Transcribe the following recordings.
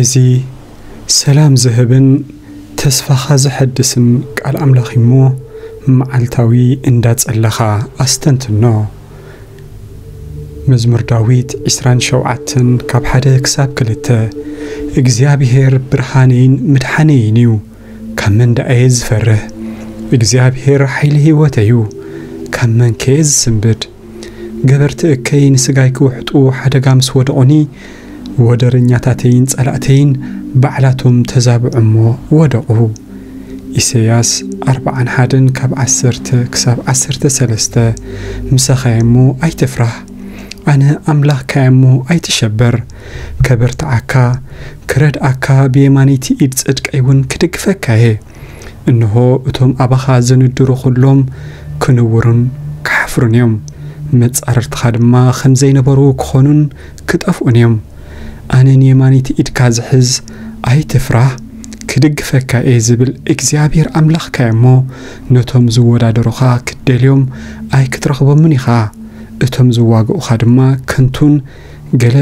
እዚ ሰላም ዝህብን ተስፋኻ ዘሐድስን ቃል ኣምላኽ እሞ፣ መዓልታዊ እንዳጸለኻ ኣስተንትኖ። መዝሙር ዳዊት ዕስራን ሸውዓተን ካብ ሓደ ክሳብ ክልተ። እግዚኣብሄር ብርሃነይን ምድሓነይን እዩ፣ ካብ መን ደኣ እየ ዝፈርህ? እግዚኣብሄር ሓይሊ ህይወተይ እዩ፣ ካብ መን ከ እየ ዝስንብድ? ገበርቲ እከይ ንስጋይ ክውሕጡ ሓደጋ ምስ ወደቑኒ፣ ወደረኛታተይን ጸላእተይን ባዕላቶም ተዛብዑ እሞ ወደቑ። ኢሳይያስ ኣርብዓን ሓደን ካብ ዓሰርተ ክሳብ ዓሰርተ ሰለስተ። ምሳኻ እየ እሞ ኣይትፍራህ፣ ኣነ ኣምላኽካ እየ እሞ ኣይትሸበር። ከበርትዓካ፣ ክረድኣካ፣ ብየማነይቲ ኢድ ጽድቀይ እውን ክድግፈካ እየ። እንሆ፣ እቶም ኣባኻ ዝንድሩ ኹሎም ክንውሩን ክሓፍሩን እዮም። መጻርርትኻ ድማ ኸም ዘይነበሩ ክኾኑን ክጠፍኡን እዮም። ኣነ ንየማነይቲ ኢድካ ዝሕዝ፣ ኣይትፍራህ፣ ክድግፈካ እየ ዝብል እግዚኣብሔር ኣምላኽካ እየ እሞ፣ ነቶም ዝወዳደሩኻ ክትደልዮም ኣይክትረኽቦምን ኢኻ። እቶም ዝዋግኡኻ ድማ ከንቱን ገለ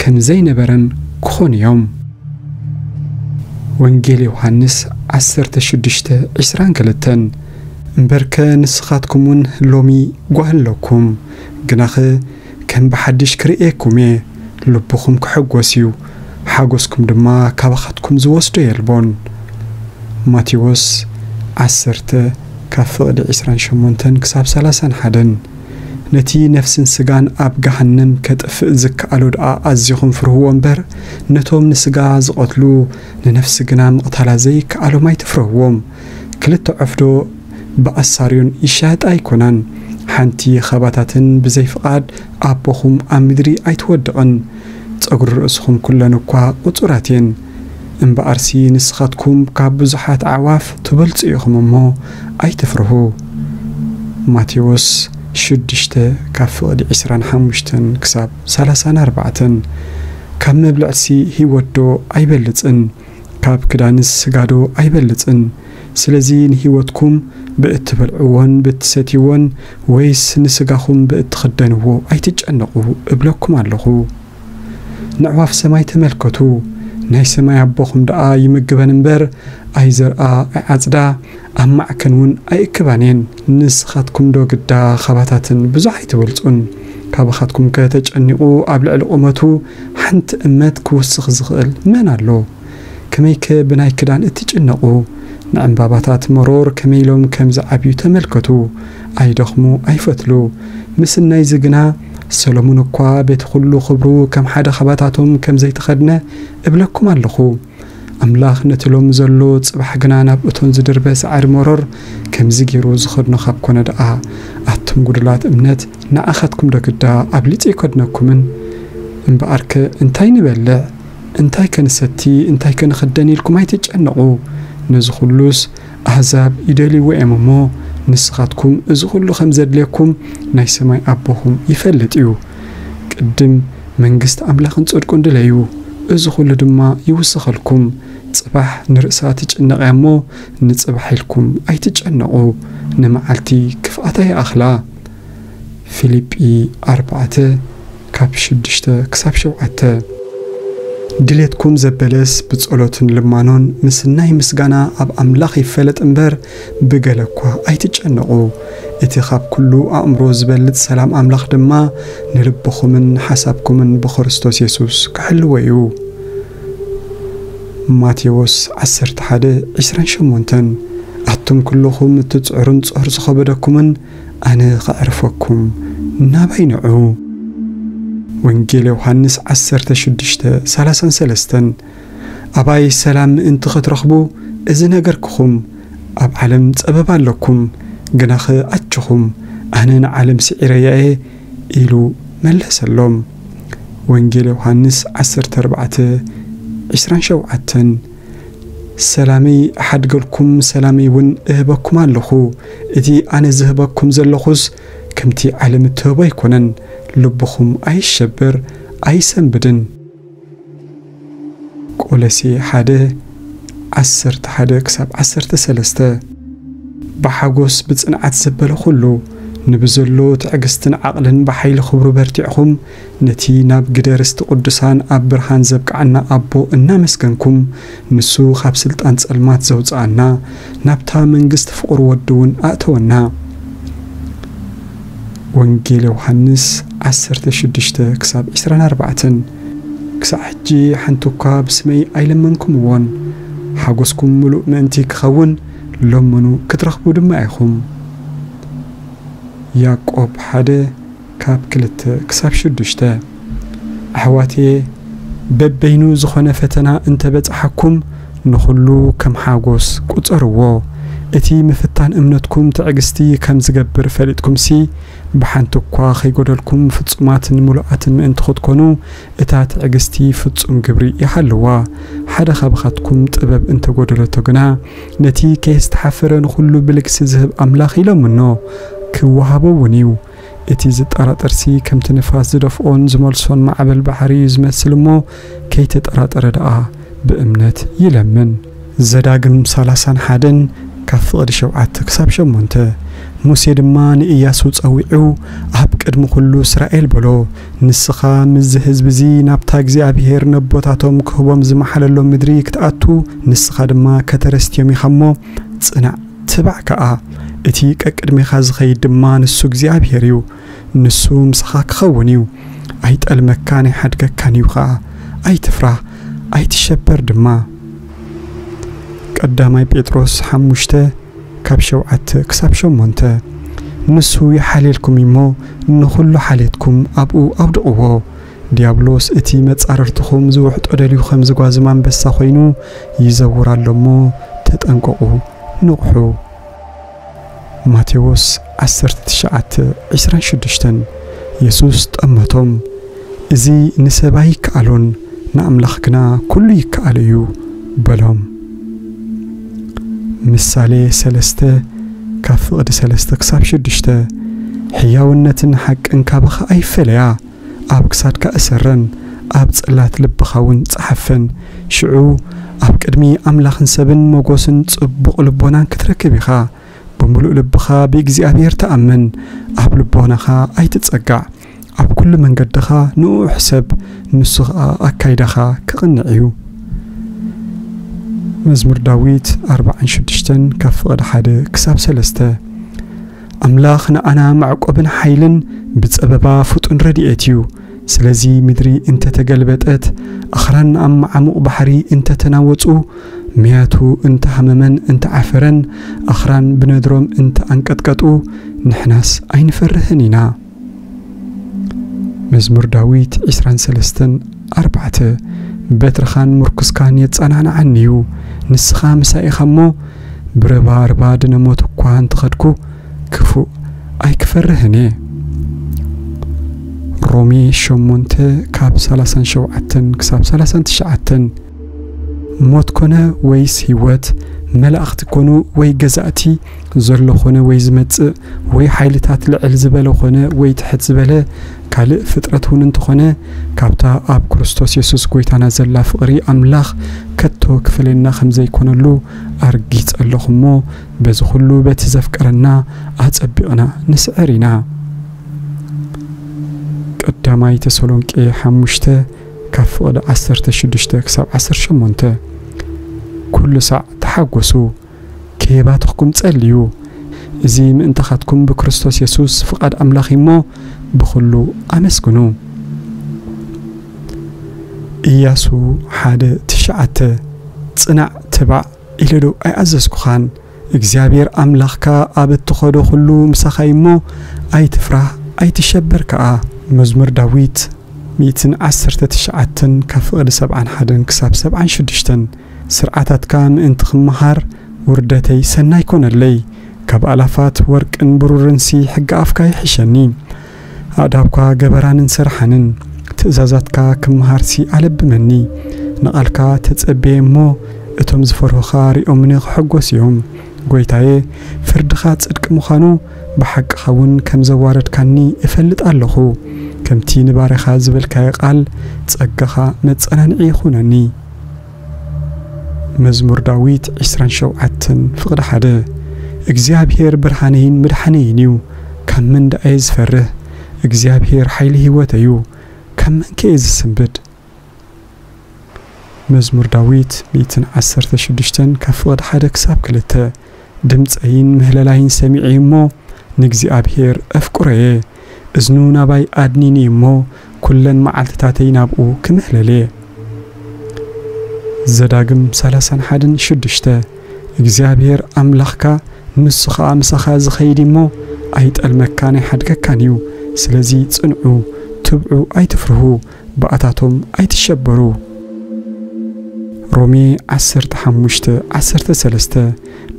ከም ዘይነበረን ክኾኑ እዮም። ወንጌል ዮሃንስ ዓሰርተ ሽዱሽተ ዕስራን ክልተን። እምበርከ ንስኻትኩም እውን ሎሚ ጓህ ኣለኩም፣ ግናኸ ከም ብሓድሽ ክርእየኩም እየ፣ ልብኹም ክሕጎስ እዩ፣ ሓጎስኩም ድማ ካባኻትኩም ዝወስዶ የልቦን። ማቴዎስ ዓሰርተ ካብ ፍቕዲ ዕስራን ሸሞንተን ክሳብ ሰላሳን ሓደን። ነቲ ነፍስን ስጋን ኣብ ገሃነም ከጥፍእ ዝከኣሎ ደኣ ኣዚኹም ፍርህዎ እምበር፣ ነቶም ንስጋ ዝቐትሉ ንነፍሲ ግና ምቕታላ ዘይከኣሎም ኣይትፍርህዎም። ክልተ ዑፍ ዶ ብኣሳርዮን ይሻየጣ ኣይኮናን? ሓንቲ ኻባታተን ብዘይ ፍቓድ ኣቦኹም ኣብ ምድሪ ኣይትወድቕን። ጸጉሪ ርእስኹም ኩለን እኳ ቁጹራት እየን። እምበኣርሲ ንስኻትኩም ካብ ብዙሓት ኣዕዋፍ ትበልጹ ኢኹም እሞ ኣይትፍርሁ። ማቴዎስ ሽዱሽተ ካብ ፍቕዲ ዕስራን ሓሙሽተን ክሳብ ሰላሳን ኣርባዕተን። ካብ መብልዕሲ ህይወት ዶ ኣይበልጽን? ካብ ክዳንስ ስጋ ዶ ኣይበልጽን? ስለዚ ንህይወትኩም ብእትበልዕዎን ብእትሰትይዎን ወይስ ንስጋኹም ብእትኽደንዎ ኣይትጨነቑ እብለኩም ኣለኹ። ነዕዋፍ ሰማይ ተመልከቱ፣ ናይ ሰማይ ኣቦኹም ደኣ ይምግበን እምበር ኣይዘርኣ ኣይዓጽዳ ኣብ ማዕከን እውን ኣይእክባን እየን። ንስኻትኩም ዶ ግዳ ኻባታተን ብዙሕ ኣይትበልጹን? ካባኻትኩም ከተጨኒቑ ኣብ ልዕሊ ቁመቱ ሓንቲ እመት ክውስኽ ዝኽእል መን ኣሎ? ከመይከ ብናይ ክዳን እትጭነቑ? ንዕምባባታት መሮር ከመይ ኢሎም ከም ዝዓብዩ ተመልከቱ። ኣይደኽሙ ኣይፈትሉ። ምስናይዚ ግና ሰሎሞን እኳ በቲ ኹሉ ኽብሩ ከም ሓደ ኻባታቶም ከም ዘይተኸድነ እብለኩም ኣለኹ። ኣምላኽ ነቲ ሎሚ ዘሎ ጽባሕ ግና ናብ እቶን ዝድርበ ሳዕሪ መሮር ከምዚ ገይሩ ዝኸድኖ ካብ ኮነ ደኣ፣ ኣቱም ጉዱላት እምነት ንኣኻትኩም ዶ ግዳ ኣብሊጹ ኣይከድነኩምን? እምበኣርከ እንታይ ንበልዕ? እንታይ ከ ንሰቲ? እንታይ ከ ንኽደን? ኢልኩም ኣይትጨነቑ። ነዚ ኹሉስ ኣህዛብ ይደልይዎ እዮም እሞ፣ ንስኻትኩም እዚ ኹሉ ከም ዘድልየኩም ናይ ሰማይ ኣቦኹም ይፈልጥ እዩ። ቅድም መንግስቲ ኣምላኽን ጽድቁን ድለዩ፣ እዚ ኹሉ ድማ ይውሰኸልኩም። ጽባሕ ንርእሳ ትጭነቕ እያ እሞ፣ ንጽባሕ ኢልኩም ኣይትጨነቑ። ንመዓልቲ ክፍኣታ ይኣኽላ። ፊልጲ ኣርባዕተ ካብ ሽዱሽተ ክሳብ ሸውዓተ። ድሌትኩም ዘበለስ ብጸሎትን ልማኖን ምስናይ ምስጋና ኣብ ኣምላኽ ይፈለጥ እምበር፣ ብገለ እኳ ኣይትጨነቑ። እቲ ካብ ኩሉ ኣእምሮ ዝበልጽ ሰላም ኣምላኽ ድማ ንልብኹምን ንሓሳብኩምን ብክርስቶስ የሱስ ክሕልዎ እዩ። ማቴዎስ ዓሰርተ ሓደ ዕስራን ሸሞንተን። ኣቱም ኩልኹም እትጽዕሩን ጾር ዝኸበደኩምን፣ ኣነ ኸዕርፈኩም፣ ናባይ ንዑ። ወንጌል ዮሃንስ ዓሰርተ ሽዱሽተ ሰላሳን ሰለስተን። ኣባይ ሰላም ምእንቲ ኽትረኽቡ እዚ ነገርክኹም። ኣብ ዓለም ጸበባ ኣለኩም፣ ግናኸ ኣችኹም፣ ኣነ ንዓለም ስዒረያ እየ ኢሉ መለሰሎም። ወንጌል ዮሃንስ ዓሰርተ ኣርባዕተ ዕስራን ሸውዓተን። ሰላመይ እሓድገልኩም፣ ሰላመይ እውን እህበኩም ኣለኹ። እቲ ኣነ ዝህበኩም ዘለኹስ ከምቲ ዓለም እትህቦ ኣይኮነን። ልብኹም ኣይሸበር፣ ኣይሰንብድን። ቆሎሴ ሓደ ዓሰርተ ሓደ ክሳብ ዓሰርተ ሰለስተ። ብሓጎስ ብጽንዓት ዘበለ ኩሉ ንብዘሎ ትዕግስትን ዓቕልን ብሓይሊ ክብሩ በርቲዕኹም፣ ነቲ ናብ ግደ ርስቲ ቅዱሳን ኣብ ብርሃን ዘብቅዓና ኣቦ እናመስገንኩም፣ ንሱ ካብ ስልጣን ጸልማት ዘውጽኣና፣ ናብታ መንግስቲ ፍቕሩ ወዱ እውን ኣእተወና። ወንጌል ዮሃንስ ዓሰርተ ሽዱሽተ ክሳብ ዕስራን ኣርባዕተን። ክሳዕ ሕጂ ሓንቲ እኳ ብስመይ ኣይለመንኩምዎን፣ ሓጎስኩም ምሉእ ምእንቲ ክኸውን፣ ለምኑ ክትረኽቡ ድማ ኢኹም። ያዕቆብ ሓደ ካብ ክልተ ክሳብ ሽዱሽተ። ኣሕዋትየ፣ በበይኑ ዝኾነ ፈተና እንተበጽሓኩም፣ ንኹሉ ከም ሓጎስ ቁጸርዎ። እቲ ምፍታን እምነትኩም ትዕግስቲ ከም ዝገብር ፈሊጥኩምሲ፣ ብሓንቲ እኳ ከይጎደልኩም ፍጹማትን ምሉኣትን ምእንቲ ክትኮኑ፣ እታ ትዕግስቲ ፍጹም ግብሪ ይሃልዋ። ሓደ ካብኻትኩም ጥበብ እንተጎደለቶ ግና፣ ነቲ ከየስተሓፈረ ንኹሉ ብልግሲ ዝህብ ኣምላኽ ይለምኖ፣ ክወሃቦ እውን እዩ። እቲ ዝጠራጠርሲ ከምቲ ንፋስ ዝደፍኦን ዝመልሶን ማዕበል ባሕሪ እዩ ዝመስል እሞ፣ ከይተጠራጠረ ደኣ ብእምነት ይለምን። ዘዳግም ሰላሳን ሓደን ካብ ፍቕዲ ሸውዓተ ክሳብ ሸሞንተ። ሙሴ ድማ ንኢያሱ ጸዊዑ፣ ኣብ ቅድሚ ኩሉ እስራኤል በሎ፣ ንስኻ ምስዚ ህዝቢ እዚ ናብታ እግዚኣብሄር ነቦታቶም ክህቦም ዝመሓለሎም ምድሪ ክትኣቱ፣ ንስኻ ድማ ከተረስትዮም ኢኻ እሞ፣ ጽናዕ፣ ትባዕ ከኣ። እቲ ቀቅድሜኻ ዝኸይድ ድማ ንሱ እግዚኣብሄር እዩ። ንሱ ምሳኻ ክኸውን እዩ። ኣይጠልመካን ኣይሓድገካን እዩ ኸኣ። ኣይትፍራህ፣ ኣይትሸበር ድማ። ቀዳማይ ጴጥሮስ ሓሙሽተ ካብ ሸውዓተ ክሳብ ሸሞንተ። ንሱ ይሓልየልኩም እሞ፣ ንኹሉ ሓልየትኩም ኣብኡ ኣውድቕዎ። ዲያብሎስ እቲ መጻርርትኹም ዝውሕጦ ደልዩ ከም ዝጓዝም ኣንበሳ ኮይኑ ይዘውር ኣሎ እሞ፣ ተጠንቀቑ፣ ንቕሑ። ማቴዎስ ዓሰርተ ትሽዓተ ዕስራን ሽዱሽተን። የሱስ ጠመቶም፣ እዚ ንሰብ ኣይከኣሎን፣ ንኣምላኽ ግና ኩሉ ይከኣሎ እዩ በሎም። ምሳሌ ሰለስተ ካብ ፍቕዲ ሰለስተ ክሳብ ሽዱሽተ። ሕያውነትን ሓቅን ካባኻ ኣይፈለያ፣ ኣብ ክሳድካ እሰረን፣ ኣብ ጽላት ልብኻ እውን ጸሓፈን። ሽዑ ኣብ ቅድሚ ኣምላኽን ሰብን መጎስን ጽቡቕ ልቦናን ክትረክብ ኢኻ። ብምሉእ ልብኻ ብእግዚኣብሔር ተኣመን፣ ኣብ ልቦናኻ ኣይትጸጋዕ። ኣብ ኩሉ መንገድኻ ንእኡ ሕሰብ፣ ንሱ ኸኣ ኣካይዳኻ ክቕንዕ እዩ። መዝሙር ዳዊት ኣርባዓን ሽዱሽተን ካብ ፍቕዲ ሓደ ክሳብ ሰለስተ። ኣምላኽ ንኣና መዕቆብን ሓይልን ብጸበባ ፍጡን ረድኤት እዩ። ስለዚ ምድሪ እንተ ተገልበጠት፣ ኣኽራን ኣብ መዓሙቕ ባሕሪ እንተ ተናወጹ፣ መያቱ እንተ ሃመመን እንተ ዓፈረን፣ ኣኽራን ብነድሮም እንተ ኣንቀጥቀጡ፣ ንሕናስ ኣይንፈርህን ኢና። መዝሙር ዳዊት ዕስራን ሰለስተን ኣርባዕተ። በትርኻን ምርኩስካን የጸናንዓኒ እዩ፣ ንስኻ ምሳይ ኢኻ እሞ፣ ብረባርባ ድነ ሞት እኳ እንተኸድኩ፣ ክፉእ ኣይክፈርህን እየ። ሮሜ ሸሞንተ ካብ ሰላሳን ሸውዓተን ክሳብ ሰላሳን ትሽዓተን። ሞት ኮነ ወይስ ህይወት፣ መላእኽቲ ኮኑ ወይ ገዛእቲ፣ ዘሎ ኮነ ወይ ዝመጽእ፣ ወይ ሓይልታት ልዕል ዝበለ ኮነ ወይ ትሕት ዝበለ፣ ካልእ ፍጥረት እውን እንተኾነ፣ ካብታ ኣብ ክርስቶስ የሱስ ጐይታና ዘላ ፍቕሪ ኣምላኽ ከቶ ክፈልየና ከም ዘይኮነሉ ኣርጊጸ ኣለኹ እሞ፣ በዚ ኹሉ በቲ ዘፍቀረና ኣጸቢቕና ንስዕር ኢና። ቀዳማይ ተሰሎንቄ ሓሙሽተ ካብ ፍቕዲ ዓሰርተ ሽዱሽተ ክሳብ ዓሰርተ ሸሞንተ። ኩሉ ሳዕ ተሓጎሱ፣ ከየባተኽኩም ጸልዩ። እዚ ምእንታኻትኩም ብክርስቶስ የሱስ ፍቓድ ኣምላኽ እዩ እሞ፣ ብኹሉ ኣመስግኑ። ኢያሱ ሓደ ትሽዓተ። ጽናዕ፣ ትባዕ ኢለ ዶ ኣይኣዘዝኩኻን? እግዚኣብሔር ኣምላኽካ ኣብ እትኸዶ ኹሉ ምሳኻ እዩ እሞ፣ ኣይትፍራህ፣ ኣይትሸበር ከኣ። መዝሙር ዳዊት ሚእትን ዓሰርተ ትሽዓተን ካብ ፍቕዲ ሰብዓን ሓደን ክሳብ ሰብዓን ሽዱሽተን። ስርዓታትካ ምእንቲ ክመሃር ውርደተይ ሰናይ ኮነለይ። ካብ ኣላፋት ወርቅን ብሩርንሲ ሕጊ ኣፍካ ይሕሸኒ። ኣእዳውካ ገበራንን ሰርሓንን፣ ትእዛዛትካ ክመሃርሲ ኣለብመኒ። ንቓልካ ተጸብየ እሞ፣ እቶም ዝፈርሁኻ ሪኦምኒ ክሕጎሱ እዮም። ጐይታየ፣ ፍርድኻ ጽድቂ ምዃኑ፣ ብሓቅኻ እውን ከም ዘዋረድካኒ እፈልጥ ኣለኹ። ከምቲ ንባርያኻ ዝበልካዮ ቃል፣ ጸጋኻ መጸናንዒ ይኹነኒ። መዝሙር ዳዊት ዕስራን ሸውዓተን ፍቕዲ ሓደ። እግዚኣብሔር ብርሃነይን መድሓነይን እዩ፣ ካብ መን ደኣ እየ ዝፈርህ? እግዚኣብሔር ሓይሊ ህይወተይ እዩ፣ ካብ መንከ እየ ዝስንብድ? መዝሙር ዳዊት ሚእትን ዓሰርተ ሽዱሽተን ካብ ፍቕዲ ሓደ ክሳብ ክልተ። ድምፀይን ምህለላይን ሰሚዑ እሞ ንእግዚኣብሔር ኣፍቅሮ እየ። እዝኑ ናባይ ኣድኒኒ እሞ ኩለን መዓልትታተይ ናብኡ ክምህለል እየ። ዘዳግም ሰላሳን ሓደን ሽዱሽተ። እግዚኣብሔር ኣምላኽካ ንሱ ኸኣ ምሳኻ ዝኸይድ እሞ ኣይጠልመካን ኣይሓድገካን እዩ። ስለዚ ጽንዑ፣ ትብዑ፣ ኣይትፍርሁ፣ ብኣታቶም ኣይትሸበሩ። ሮሜ ዓሰርተ ሓሙሽተ ዓሰርተ ሰለስተ።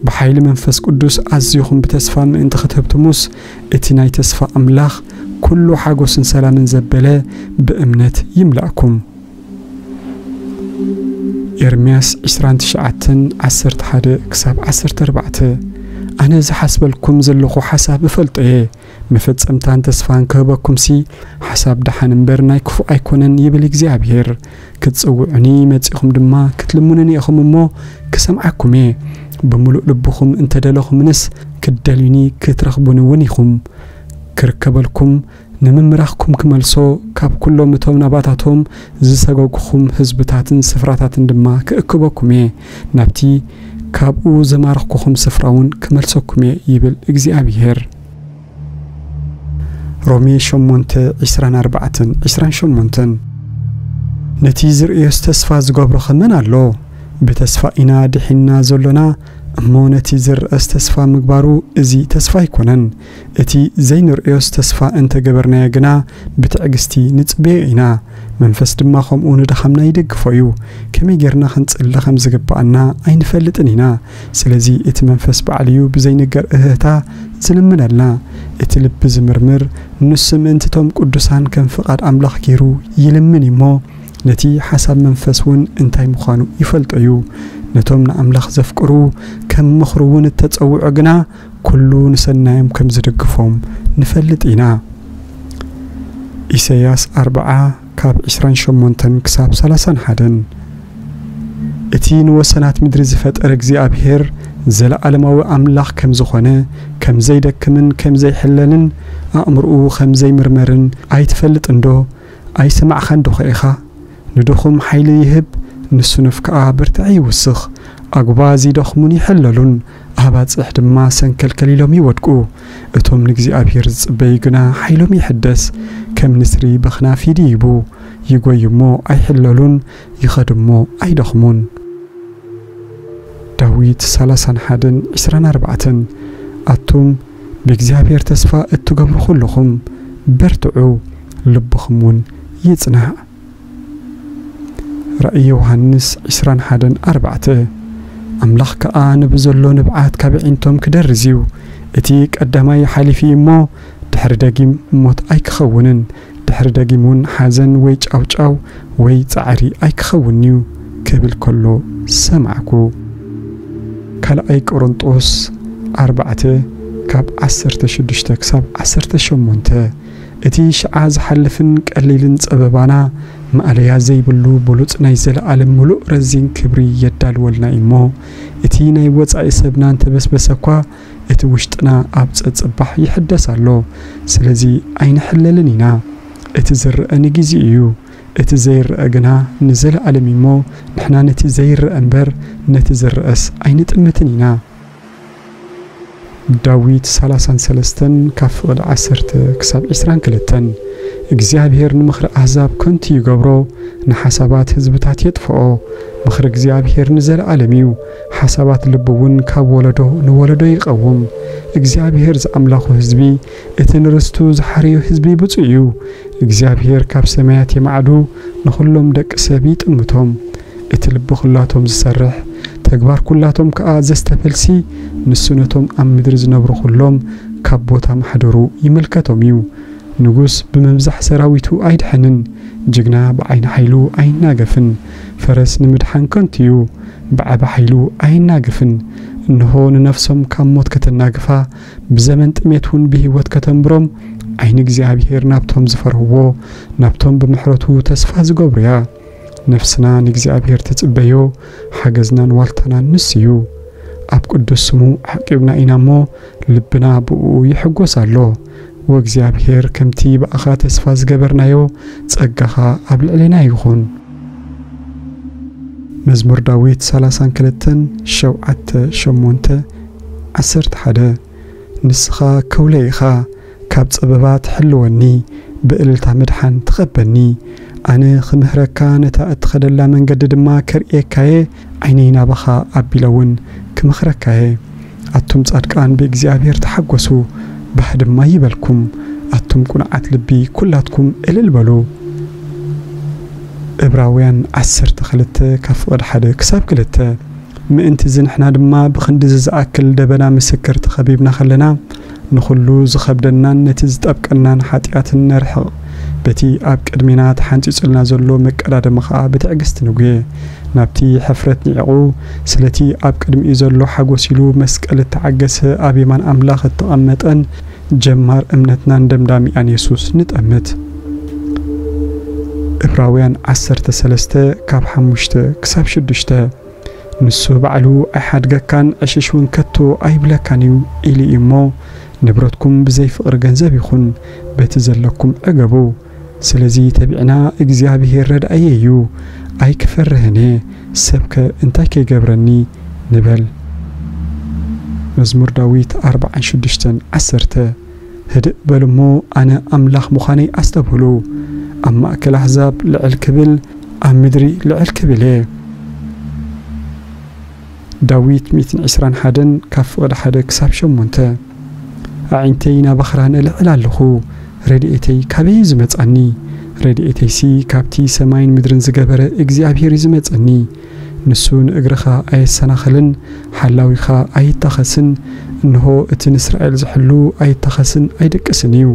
ብሓይሊ መንፈስ ቅዱስ ኣዚኹም ብተስፋ ምእንቲ ኽትህብትሙስ፣ እቲ ናይ ተስፋ ኣምላኽ ኩሉ ሓጎስን ሰላምን ዘበለ ብእምነት ይምላእኩም። ኤርምያስ ዕስራን ትሽዓተን ዓሰርተ ሓደ ክሳብ ዓሰርተ ኣርባዕተ። ኣነ ዝሓስበልኩም ዘለኹ ሓሳብ እፈልጦ እየ፣ መፈጸምታን ተስፋን ክህበኩምሲ፣ ሓሳብ ደሓን እምበር ናይ ክፉእ ኣይኮነን ይብል እግዚኣብሔር። ክትጽውዑኒ መጺኹም ድማ ክትልምኑኒ ኢኹም እሞ ክሰምዓኩም እየ። ብምሉእ ልብኹም እንተደለኹምንስ ክትደልዩኒ ክትረኽቡኒ እውን ኢኹም። ክርከበልኩም ንምምራኽኩም ክመልሶ፣ ካብ ኩሎም እቶም ናባታቶም ዝሰገጉኹም ህዝብታትን ስፍራታትን ድማ ክእክበኩም እየ፣ ናብቲ ካብኡ ዘማረኽኩኹም ስፍራ እውን ክመልሰኩም እየ ይብል እግዚኣብሔር። ሮሜ ሸሞንተ ዕስራን ኣርባዕተን ዕስራን ሸሞንተን። ነቲ ዝርእዮስ ተስፋ ዝገብሮ ኸ መን ኣሎ? ብተስፋ ኢና ድሒንና ዘሎና እሞ ነቲ ዝርኣስ ተስፋ ምግባሩ እዚ ተስፋ ኣይኮነን። እቲ ዘይንርእዮስ ተስፋ እንተገበርናዮ ግና ብትዕግስቲ ንጽበዮ ኢና። መንፈስ ድማ ከምኡ ንድኻምና ይደግፎ እዩ። ከመይ ጌርና ክንጽሊ ከም ዝግብኣና ኣይንፈልጥን ኢና። ስለዚ እቲ መንፈስ ባዕሉ እዩ ብዘይንገር እህህታ ዝልምነልና። እቲ ልቢ ዝምርምር ንሱ ምእንቲ እቶም ቅዱሳን ከም ፍቓድ ኣምላኽ ጌሩ ይልምን እዩ እሞ ነቲ ሓሳብ መንፈስ እውን እንታይ ምዃኑ ይፈልጦ እዩ። ነቶም ንኣምላኽ ዘፍቅሩ ከም ምኽሩ እውን እተጸውዑ ግና ኩሉ ንሰናዮም ከም ዝድግፎም ንፈልጥ ኢና። ኢሳይያስ ኣርብዓ ካብ ዕስራን ሸሞንተን ክሳብ ሰላሳን ሓደን። እቲ ንወሰናት ምድሪ ዝፈጠረ እግዚኣብሔር ዘለዓለማዊ ኣምላኽ ከም ዝኾነ፣ ከም ዘይደክምን ከም ዘይሕለልን፣ ኣእምርኡ ከም ዘይምርመርን ኣይትፈልጥንዶ? ኣይሰማዕኻን ዶኸ ኢኻ? ንድኹም ሓይሊ ይህብ፣ ንስኑፍ ከኣ ብርትዒ ይውስኽ። ኣጉባ ዝደኽሙን ይሕለሉን፣ ኣባጽሕ ድማ ሰንከልከል ኢሎም ይወድቁ። እቶም ንእግዚኣብሔር ዝጽበዩ ግና ሓይሎም ይሕደስ፣ ከም ንስሪ በኽናፍ ይድይቡ። ይጎዩ እሞ ኣይሕለሉን፣ ይኸዱ እሞ ኣይደኽሙን። ዳዊት ሰላሳን ሓደን ዕስራን ኣርባዕተን። ኣቱም ብእግዚኣብሔር ተስፋ እትገብሩ ኩልኹም በርትዑ፣ ልብኹም እውን ይጽናዕ። ራእይ ዮሃንስ ዕስራን ሓደን ኣርባዕተ። ኣምላኽ ከኣ ንብዘሎ ንብዓት ካብ ኣዒንቶም ክደርዝ እዩ። እቲ ቀዳማይ ሓሊፉ እዩ እሞ፣ ድሕሪ ደጊም ሞት ኣይክኸውንን፣ ድሕሪ ደጊም እውን ሓዘን ወይ ጫውጫው ወይ ጻዕሪ ኣይክኸውን እዩ ክብል ከሎ ሰማዕኩ። ካልኣይ ቆሮንጦስ ኣርባዕተ ካብ ዓሰርተ ሽዱሽተ ክሳብ ዓሰርተ ሸሞንተ። እቲ ሽዓ ዝሓልፍን ቀሊልን ጸበባና ማእለያ ዘይብሉ ብሉጽ ናይ ዘለኣለም ምሉእ ረዚን ክብሪ የዳልወልና እዩ እሞ፣ እቲ ናይ ወጻኢ ሰብና እንተበስበሰ እኳ፣ እቲ ውሽጥና ኣብ ጸጽባሕ ይሕደስ ኣሎ። ስለዚ ኣይንሕለልን ኢና። እቲ ዝረአ ንጊዜኡ እዩ። እቲ ዘይረአ ግና ንዘለኣለም እዩ እሞ፣ ንሕና ነቲ ዘይረአ እምበር ነቲ ዝረአስ ኣይንጥምትን ኢና። ዳዊት ሰላሳን ሰለስተን ካብ ፍቕዲ ዓሰርተ ክሳብ ዕስራን ክልተን። እግዚኣብሔር ንምኽሪ ኣህዛብ ከንቱ ይገብሮ፣ ንሓሳባት ህዝብታት የጥፍኦ። ምኽሪ እግዚኣብሔር ንዘለኣለም እዩ፣ ሓሳባት ልቡ እውን ካብ ወለዶ ንወለዶ ይቐውም። እግዚኣብሔር ዝኣምላኹ ህዝቢ፣ እቲ ንርስቱ ዝሓረዮ ህዝቢ ብፁዕ እዩ። እግዚኣብሔር ካብ ሰማያት የማዕዱ፣ ንኹሎም ደቂ ሰብ ይጥምቶም። እቲ ልቢ ኩላቶም ዝሰርሕ፣ ተግባር ኩላቶም ከኣ ዘስተፈልሲ፣ ንሱ ነቶም ኣብ ምድሪ ዝነብሩ ኩሎም ካብ ቦታ ማሕደሩ ይምልከቶም እዩ። ንጉስ ብምብዛሕ ሰራዊቱ ኣይድሕንን፣ ጅግና ብዓይኒ ሓይሉ ኣይናገፍን። ፈረስ ንምድሓን ከንቱ እዩ፣ ብዓቢ ሓይሉ ኣይናገፍን። እንሆ ንነፍሶም ካብ ሞት ከተናግፋ፣ ብዘመን ጥሜት እውን ብህይወት ከተንብሮም፣ ዓይኒ እግዚኣብሔር ናብቶም ዝፈርህዎ፣ ናብቶም ብምሕረቱ ተስፋ ዝገብሩ እያ። ነፍስና ንእግዚኣብሔር ትጽበዮ፣ ሓገዝናን ዋልታናን ንሱ እዩ። ኣብ ቅዱስ ስሙ ዓቂብና ኢና እሞ፣ ልብና ብእኡ ይሕጎስ ኣሎ። ወእግዚኣብሔር ከምቲ ብኣኻ ተስፋ ዝገበርናዮ ጸጋኻ ኣብ ልዕሌና ይኹን። መዝሙር ዳዊት ሰላሳን ክልተን ሸውዓተ ሸሞንተ ዓሰርተ ሓደ። ንስኻ ከውለይ ኢኻ፣ ካብ ጸበባ ትሕልወኒ፣ ብእልልታ ምድሓን ትኸበኒ። ኣነ ክምህረካ፣ ነታ እትኸደላ መንገዲ ድማ ከርእየካየ፣ ዓይነይ ናባኻ ኣቢለ እውን ክመኽረካየ። ኣቱም ጻድቃን ብእግዚኣብሔር ተሓጎሱ፣ ባህ ድማ ይበልኩም። ኣቱም ቁንዓት ልቢ ኩላትኩም እልል በሉ። እብራውያን ዓሰርተ ክልተ ካብ ፍቕዲ ሓደ ክሳብ ክልተ። ምእንቲ እዚ ንሕና ድማ ብኽንዲ እዚ ዝኣክል ደበና ምስክር ተኸቢብና ከለና፣ ንኹሉ ዝኸብደናን ነቲ ዝጠብቀናን ሓጢኣትን ነርሕቕ። በቲ ኣብ ቅድሜና ተሓንጺጹልና ዘሎ መቀዳደሚ ኸኣ ብትዕግስቲ ንጉየ። ናብቲ ሕፍረት ንዒቑ፣ ስለቲ ኣብ ቅድሚኡ ዘሎ ሓጎስ ኢሉ መስቀል እተዓገሰ ኣብ የማን ኣምላኽ እተቐመጠን ጀማር እምነትናን ደምዳሚኣን የሱስ ንጠምት። እብራውያን ዓሰርተ ሰለስተ ካብ ሓሙሽተ ክሳብ ሽዱሽተ። ንሱ ባዕሉ ኣይሓድገካን፣ ዕሽሽ እውን ከቶ ኣይብለካን እዩ ኢሉ እዩ እሞ፣ ንብረትኩም ብዘይ ፍቕሪ ገንዘብ ይኹን፣ በቲ ዘለኩም ዕገቡ። ስለዚ ተቢዕና፣ እግዚኣብሄር ረድኣየ እዩ፣ ኣይክፈርህን እየ፣ ሰብከ እንታይ ከይገብረኒ ንበል። መዝሙር ዳዊት ኣርብዓን ሽዱሽተን ዓሰርተ። ህድእ በሉ እሞ ኣነ ኣምላኽ ምዃነይ ኣስተብህሉ። ኣብ ማእከል ኣህዛብ ልዕል ክብል፣ ኣብ ምድሪ ልዕል ክብል እየ። ዳዊት ሚእትን ዕስራን ሓደን ካብ ፍቕዲ ሓደ ክሳብ ሸሞንተ። ኣዒንተይ ናባኽራ ነልዕል ኣለኹ፣ ረድኤተይ ካበይ እዩ ዝመጻኒ? ረድኤተይሲ ካብቲ ሰማይን ምድርን ዝገበረ እግዚኣብሄር እዩ ዝመጸኒ። ንሱ ንእግርኻ ኣየሰናኽልን፣ ሓላዊኻ ኣይታኸስን። እንሆ፣ እቲ ንእስራኤል ዝሕሉ ኣይታኸስን ኣይደቅስን እዩ።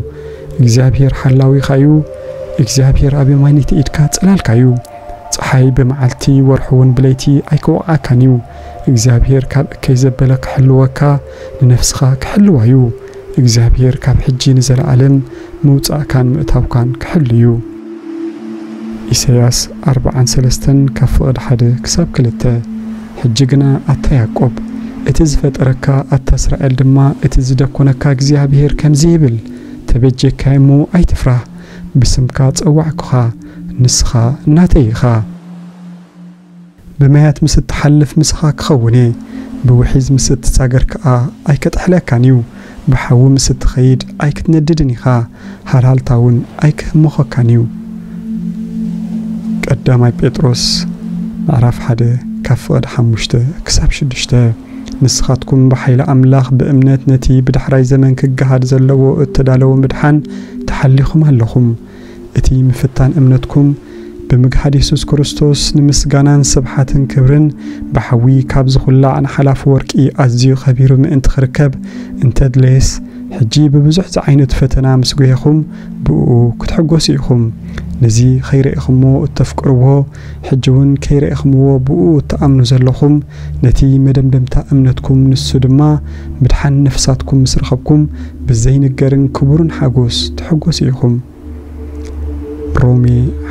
እግዚኣብሄር ሓላዊኻ እዩ። እግዚኣብሄር ኣብ የማነይቲ ኢድካ ጽላልካ እዩ። ጸሓይ ብመዓልቲ፣ ወርሒ እውን ብለይቲ ኣይክወቕዓካን እዩ። እግዚኣብሄር ካብ እከይ ዘበለ ክሕልወካ፣ ንነፍስኻ ክሕልዋ እዩ። እግዚኣብሄር ካብ ሕጂ ንዘለኣለም ምውጻእካን ምእታውካን ክሕሉ እዩ። ኢሳይያስ ኣርብዓን ሰለስተን ካብ ፍቕዲ ሓደ ክሳብ ክልተ። ሕጂ ግና ኣታ ያዕቆብ፣ እቲ ዝፈጠረካ፣ ኣታ እስራኤል ድማ፣ እቲ ዝደኮነካ እግዚኣብሄር ከምዚ ይብል፣ ተበጀካይ እሞ ኣይትፍራህ፣ ብስምካ ጸዋዕኩኻ፣ ንስኻ ናተይ ኢኻ። ብማያት ምስ እትሓልፍ ምሳኻ ክኸውን እየ፣ ብውሒዝ ምስ እትሳገር ከኣ ኣይከጥሕለካን እዩ። ብሓዊ ምስ እትኸይድ ኣይክትነድድን ኢኻ፣ ሃልሃልታ እውን ኣይክህምኾካን እዩ። ቀዳማይ ጴጥሮስ ምዕራፍ ሓደ ካብ ፍቕዲ ሓሙሽተ ክሳብ ሽዱሽተ። ንስኻትኩም ብሓይሊ ኣምላኽ ብእምነት ነቲ ብዳሕራይ ዘመን ክገሃድ ዘለዎ እተዳለወ ምድሓን ተሓሊኹም ኣለኹም። እቲ ምፍታን እምነትኩም ብምግሃድ የሱስ ክርስቶስ ንምስጋናን ስብሓትን ክብርን ብሓዊ ካብ ዝኹላዕ ንሓላፊ ወርቂ ኣዝዩ ኸቢሩ ምእንቲ ክርከብ እንተድለየስ፣ ሕጂ ብብዙሕ ዝዓይነቱ ፈተና ምስ ጒሄኹም ብእኡ ክትሕጎሱ ኢኹም። ነዚ ኸይረኢኹምዎ እተፍቅርዎ፣ ሕጂ እውን ከይረኢኹምዎ ብእኡ እትኣምኑ ዘለኹም፣ ነቲ መደምደምታ እምነትኩም ንሱ ድማ ምድሓን ነፍሳትኩም ምስ ረኸብኩም ብዘይንገርን ክቡርን ሓጎስ ትሕጎሱ ኢኹም። ሮሜ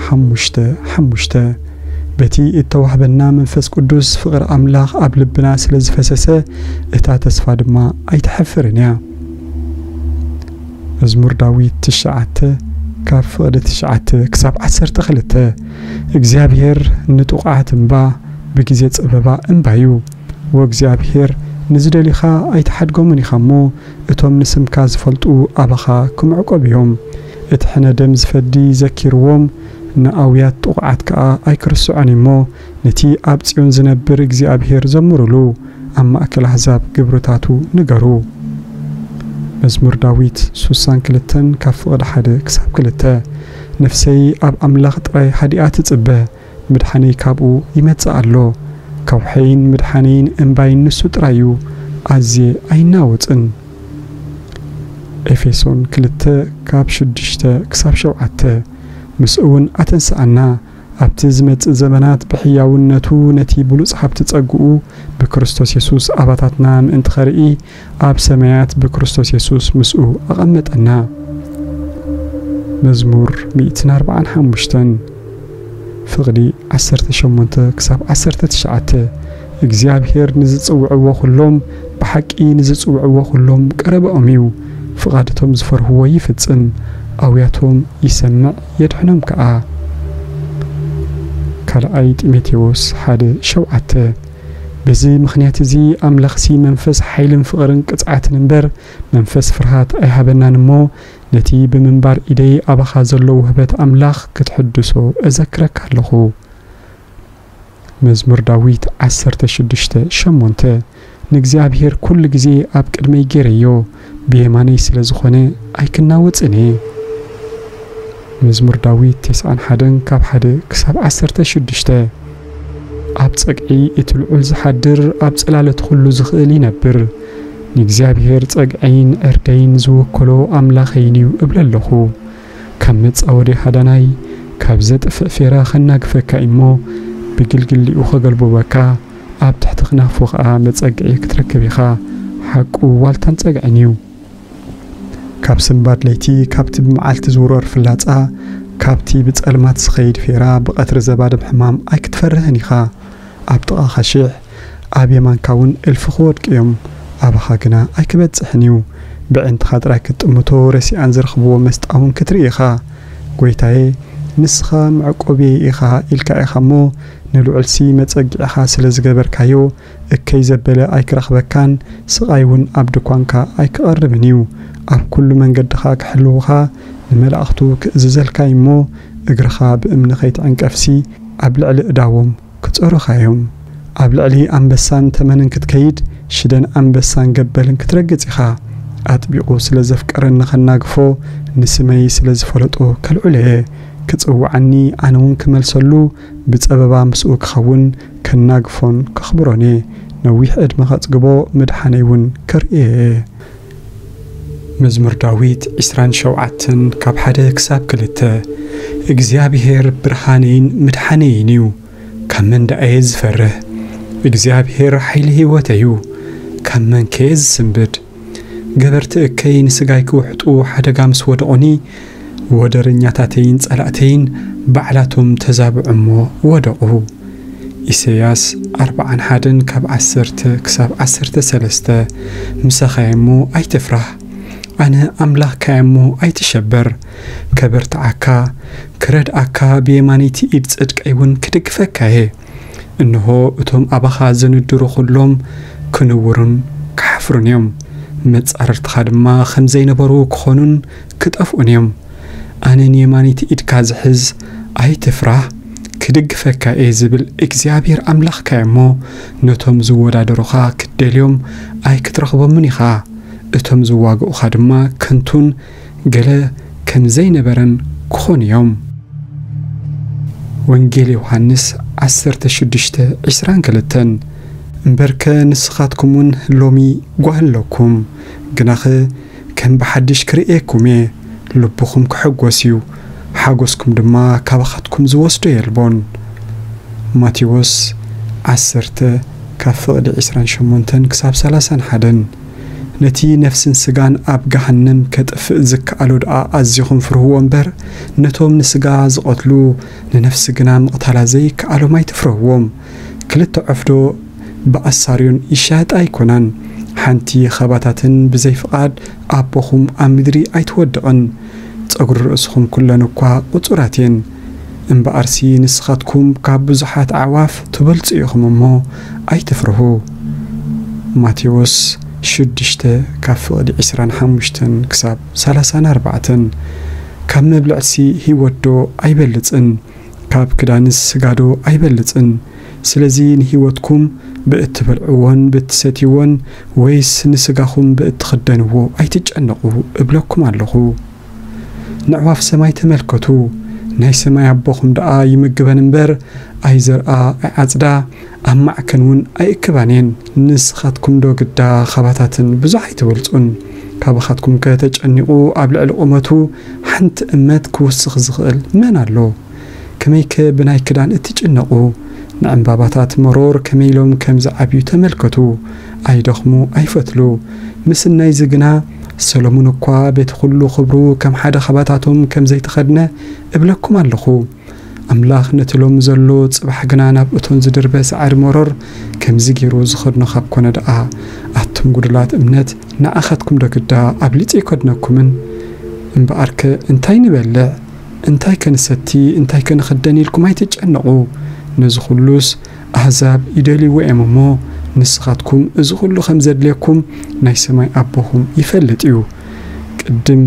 ሓሙሽተ ሓሙሽተ። በቲ እተዋህበና መንፈስ ቅዱስ ፍቕሪ ኣምላኽ ኣብ ልብና ስለ ዝፈሰሰ፣ እታ ተስፋ ድማ ኣይትሐፍርን እያ። መዝሙር ዳዊት ትሽዓተ ካብ ፍቕዲ ትሽዓተ ክሳብ ዓሰርተ ክልተ። እግዚኣብሔር ንጥቑዓት እምባ፣ ብግዜ ጸበባ እምባ እዩ። ወእግዚኣብሔር ንዝደልዩኻ ኣይትሓድጎምን ኢኻ እሞ፣ እቶም ንስምካ ዝፈልጡ ኣባኻ ክምዕቆብ እዮም። እቲ ሕነ ደም ዝፈዲ ዘኪርዎም፣ ንኣውያት ጥቑዓት ከኣ ኣይክርስዖን እዩ እሞ፣ ነቲ ኣብ ጽዮን ዝነብር እግዚኣብሔር ዘምሩሉ፣ ኣብ ማእከል ኣህዛብ ግብርታቱ ንገሩ። መዝሙር ዳዊት ሱሳን ክልተን ካብ ፍቕዲ ሓደ ክሳብ ክልተ። ነፍሰይ ኣብ ኣምላኽ ጥራይ ሃዲኣ ትጽበ፣ ምድሓነይ ካብኡ ይመጽእ ኣሎ። ከውሐይን ምድሓነይን እምባይን ንሱ ጥራይ እዩ፣ ኣዝየ ኣይናወጽን። ኤፌሶን ክልተ ካብ ሽዱሽተ ክሳብ ሸውዓተ። ምስኡ እውን ኣተንስኣና፣ ኣብቲ ዝመጽእ ዘመናት ብሕያውነቱ ነቲ ብሉጽ ሃብቲ ጸግኡ ብክርስቶስ የሱስ ኣባታትና ምእንቲ ኸርኢ፣ ኣብ ሰማያት ብክርስቶስ የሱስ ምስኡ ኣቐመጠና። መዝሙር ሚእትን ኣርባዓን ሓሙሽተን ፍቕዲ ዓሰርተ ሸሞንተ ክሳብ ዓሰርተ ትሽዓተ። እግዚኣብሔር ንዝጽውዕዎ ኹሎም፣ ብሓቂ ንዝጽውዕዎ ኹሎም ቀረባኦም እዩ። ፍቓድ እቶም ዝፈርህዎ ይፍጽም፣ ኣውያቶም ይሰምዕ የድሕኖም ከኣ። ካልኣይ ጢሞቴዎስ ሓደ ሸውዓተ። በዚ ምኽንያት እዚ ኣምላኽሲ መንፈስ ሓይልን ፍቕርን ቅጽዓትን እምበር መንፈስ ፍርሃት ኣይሃበናን እሞ፣ ነቲ ብምንባር ኢደይ ኣባኻ ዘሎ ውህበት ኣምላኽ ክትሕድሶ እዘክረካ ኣለኹ። መዝሙር ዳዊት ዓሰርተ ሽዱሽተ ሸሞንተ። ንእግዚኣብሔር ኩሉ ግዜ ኣብ ቅድመይ ገይረዮ፣ ብየማነይ ስለ ዝኾነ ኣይክናወጽን እየ። መዝሙር ዳዊት ተስዓን ሓደን ካብ ሓደ ክሳብ ዓሰርተ ሽዱሽተ። ኣብ ጸግዒ እቲ ልዑል ዝሓድር፣ ኣብ ጽላለት ኩሉ ዝኽእል ይነብር። ንእግዚኣብሔር ጸግዐይን ዕርደይን ዝወከሎ ኣምላኸይን እዩ እብል ኣለኹ። ካብ መጻወዲ ሃዳናይ፣ ካብ ዘጥፍእ ፌራ ኸናግፈካ እሞ፣ ብግልግሊኡ ኸገልብበካ፣ ኣብ ትሕቲ ክናፉ ኸኣ መጸግዒ ክትረክብ ኢኻ። ሓቁ ዋልታን ጸግዕን እዩ። ካብ ስንባድ ለይቲ፣ ካብቲ ብመዓልቲ ዝውረር ፍላጻ፣ ካብቲ ብጸልማት ዝኸይድ ፌራ፣ ብቐትሪ ዘባድም ሕማም ኣይክትፈርህን ኢኻ። ኣብ ጥቓኻ ሽሕ፣ ኣብ የማንካ እውን እልፊ ክወድቁ እዮም፣ ኣባኻ ግና ኣይክበጽሕን እዩ። ብዕንትኻ ጥራይ ክትጥምቶ፣ ረሲኣን ዝረኽብዎ መስጣ እውን ክትርኢ ኢኻ። ጐይታየ፣ ንስኻ መዕቆብየይ ኢኻ ኢልካ ኢኻ እሞ፣ ንልዑልሲ መጸግዒኻ ስለ ዝገበርካዮ፣ እከይ ዘበለ ኣይክረኽበካን፣ ስቓይ እውን ኣብ ድኳንካ ኣይክቐርብን እዩ። ኣብ ኩሉ መንገድኻ ክሕልዉኻ ንመላእኽቱ ክእዝዘልካ እዩ እሞ፣ እግርኻ ብእምኒ ኸይትዕንቀፍሲ፣ ኣብ ልዕሊ እዳዎም ክጸሩኻ እዮም። ኣብ ልዕሊ ኣንበሳን ተመንን ክትከይድ፣ ሽደን ኣንበሳን ገበልን ክትረግጽ ኢኻ። ኣጥቢቑ ስለ ዘፍቀረኒ ኸናግፎ፣ ንስመይ ስለ ዝፈለጦ ከልዕሎ እየ። ክጽውዓኒ፣ ኣነ እውን ክመልሰሉ፣ ብጸበባ ምስኡ ክኸውን፣ ከናግፎን ከኽብሮን እየ። ነዊሕ ዕድመ ኸጽግቦ፣ ምድሓነይ እውን ከርእዮ እየ። መዝሙር ዳዊት ዕስራን ሸውዓተን ካብ ሓደ ክሳብ ክልተ። እግዚኣብሔር ብርሃነይን ምድሓነይን እዩ፣ ካብ መን ደኣ እየ ዝፈርህ? እግዚኣብሔር ሓይሊ ህይወተይ እዩ፣ ካብ መን ከ እየ ዝስንብድ? ገበርቲ እከይ ንስጋይ ክውሕጡ ሓደጋ ምስ ወደቑኒ፣ ወደረኛታተይን ጸላእተይን ባዕላቶም ተዛብዑ እሞ ወደቑ። ኢሳይያስ ኣርብዓን ሓደን ካብ ዓሰርተ ክሳብ ዓሰርተ ሰለስተ። ምሳኻ እየ እሞ ኣይትፍራህ፣ ኣነ ኣምላኽካ እየ እሞ ኣይትሸበር። ከበርትዓካ፣ ክረድኣካ፣ ብየማነይቲ ኢድ ጽድቀይ እውን ክድግፈካ እየ። እንሆ፣ እቶም ኣባኻ ዝንድሩ ኹሎም ክንውሩን ክሓፍሩን እዮም። መጻርርትኻ ድማ ከም ዘይነበሩ ክኾኑን ክጠፍኡን እዮም። ኣነ ንየማነይቲ ኢድካ ዝሕዝ፣ ኣይትፍራህ፣ ክድግፈካ እየ ዝብል እግዚኣብሔር ኣምላኽካ እየ እሞ፣ ነቶም ዝወዳደሩኻ ክትደልዮም ኣይክትረኽቦምን ኢኻ። እቶም ዝዋግኡኻ ድማ ከንቱን ገለ ከም ዘይነበረን ክኾኑ እዮም። ወንጌል ዮሃንስ ዓሰርተ ሽዱሽተ ዕስራን ክልተን። እምበርከ ንስኻትኩም እውን ሎሚ ጓህ ኣለኩም፣ ግናኸ ከም ብሓድሽ ክርእየኩም እየ፣ ልብኹም ክሕጎስ እዩ፣ ሓጎስኩም ድማ ካባኻትኩም ዝወስዶ የልቦን። ማቴዎስ ዓሰርተ ካብ ፍቕዲ ዕስራን ሸሞንተን ክሳብ ሰላሳን ሓደን። ነቲ ነፍስን ስጋን ኣብ ገሃነም ከጥፍእ ዝከኣሎ ደኣ ኣዚኹም ፍርህዎ እምበር፣ ነቶም ንስጋ ዝቐትሉ ንነፍሲ ግና ምቕታላ ዘይከኣሎም ኣይትፍረህዎም። ክልተ ዑፍ ዶ ብኣሳርዮን ይሻየጣ ኣይኮናን? ሓንቲ ኻባታተን ብዘይ ፍቓድ ኣቦኹም ኣብ ምድሪ ኣይትወድቕን። ጸጉሪ ርእስኹም ኩለን እኳ ቁጹራት እየን። እምበኣርሲ ንስኻትኩም ካብ ብዙሓት ኣዕዋፍ ትበልጹ ኢኹም እሞ ኣይትፍርሁ። ማቴዎስ ሽዱሽተ ካብ ፍቕዲ ዕስራን ሓሙሽተን ክሳብ ሰላሳን ኣርባዕተን። ካብ መብልዕሲ ህይወት ዶ ኣይበልጽን? ካብ ክዳንስ ስጋ ዶ ኣይበልጽን? ስለዚ ንህይወትኩም ብእትበልዕዎን ብእትሰትይዎን ወይስ ንስጋኹም ብእትኽደንዎ ኣይትጨነቑ እብለኩም ኣለኹ። ንዕዋፍ ሰማይ ተመልከቱ፣ ናይ ሰማይ ኣቦኹም ደኣ ይምግበን እምበር፣ ኣይዘርኣ ኣይዓጽዳ፣ ኣብ ማዕከን እውን ኣይእክባን እየን። ንስኻትኩም ዶ ግዳ ኻባታተን ብዙሕ ኣይትበልጹን? ካባኻትኩም ከ ተጨኒቑ ኣብ ልዕሊ ቁመቱ ሓንቲ እመት ክውስኽ ዝኽእል መን ኣሎ? ከመይከ ብናይ ክዳን እትጭነቑ? ንዕምባባታት መሮር ከመይ ኢሎም ከም ዝዓብዩ ተመልከቱ። ኣይደኽሙ፣ ኣይፈትሉ። ምስናይዚ ግና ሰሎሞን እኳ በቲ ኹሉ ኽብሩ ከም ሓደ ኻባታቶም ከም ዘይተኸድነ እብለኩም ኣለኹ። ኣምላኽ ነቲ ሎሚ ዘሎ ጽባሕ ግና ናብ እቶን ዝድርበ ሳዕሪ መሮር ከምዚ ገይሩ ዝኸድኖ ካብ ኮነ ደኣ፣ ኣቱም ጉዱላት እምነት፣ ንኣኻትኩም ዶ ግዳ ኣብሊጹ ኣይከድነኩምን? እምበኣርከ እንታይ ንበልዕ፣ እንታይ ከ ንሰቲ፣ እንታይ ከ ንኽደን ኢልኩም ኣይትጨነቑ። ነዚ ኹሉስ ኣህዛብ ይደልይዎ እዮም እሞ፣ ንስኻትኩም እዚ ኹሉ ከም ዘድልየኩም ናይ ሰማይ ኣቦኹም ይፈልጥ እዩ። ቅድም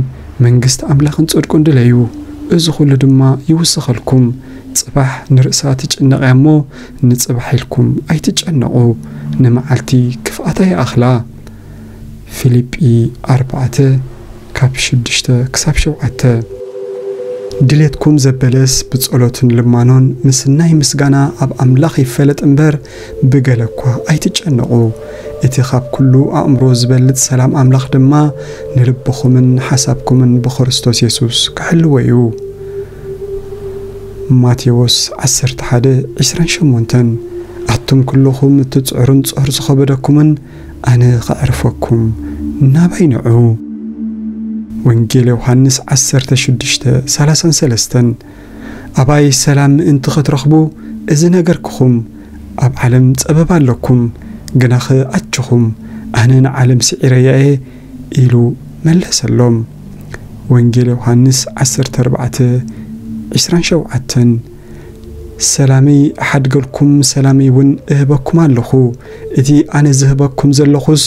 መንግስቲ ኣምላኽን ጽድቁን ድለዩ፣ እዚ ኹሉ ድማ ይውሰኸልኩም። ጽባሕ ንርእሳ ትጭነቕ እያ እሞ፣ ንጽባሕ ኢልኩም ኣይትጨነቑ፣ ንመዓልቲ ክፍኣታ ይኣኽላ። ፊልጲ ኣርባዕተ ካብ ሽዱሽተ ክሳብ ሸውዓተ። ድሌትኩም ዘበለስ ብጸሎትን ልማኖን ምስ ናይ ምስጋና ኣብ ኣምላኽ ይፈለጥ እምበር፣ ብገለ እኳ ኣይትጨነቑ። እቲ ካብ ኩሉ ኣእምሮ ዝበልጽ ሰላም ኣምላኽ ድማ ንልብኹምን ሓሳብኩምን ብክርስቶስ የሱስ ክሕልዎ እዩ። ማቴዎስ ዓሰርተ ሓደ ዕስራን ሸሞንተን። ኣቱም ኩልኹም እትጽዕሩን ጾር ዝኸበደኩምን፣ ኣነ ኸዕርፈኩም፣ ናባይ ንዑ። ወንጌል ዮሃንስ ዓሰርተ ሽዱሽተ ሰላሳን ሰለስተን። ኣባይ ሰላም ምእንቲ ኽትረኽቡ እዚ ነገርክኹም። ኣብ ዓለም ጸበባ ኣለኩም፣ ግናኸ ኣችኹም፣ ኣነ ንዓለም ስዒረያ እየ፣ ኢሉ መለሰሎም። ወንጌል ዮሃንስ ዓሰርተ ኣርባዕተ ዕስራን ሸውዓተን። ሰላመይ እሓድገልኩም፣ ሰላመይ እውን እህበኩም ኣለኹ። እቲ ኣነ ዝህበኩም ዘለኹስ፣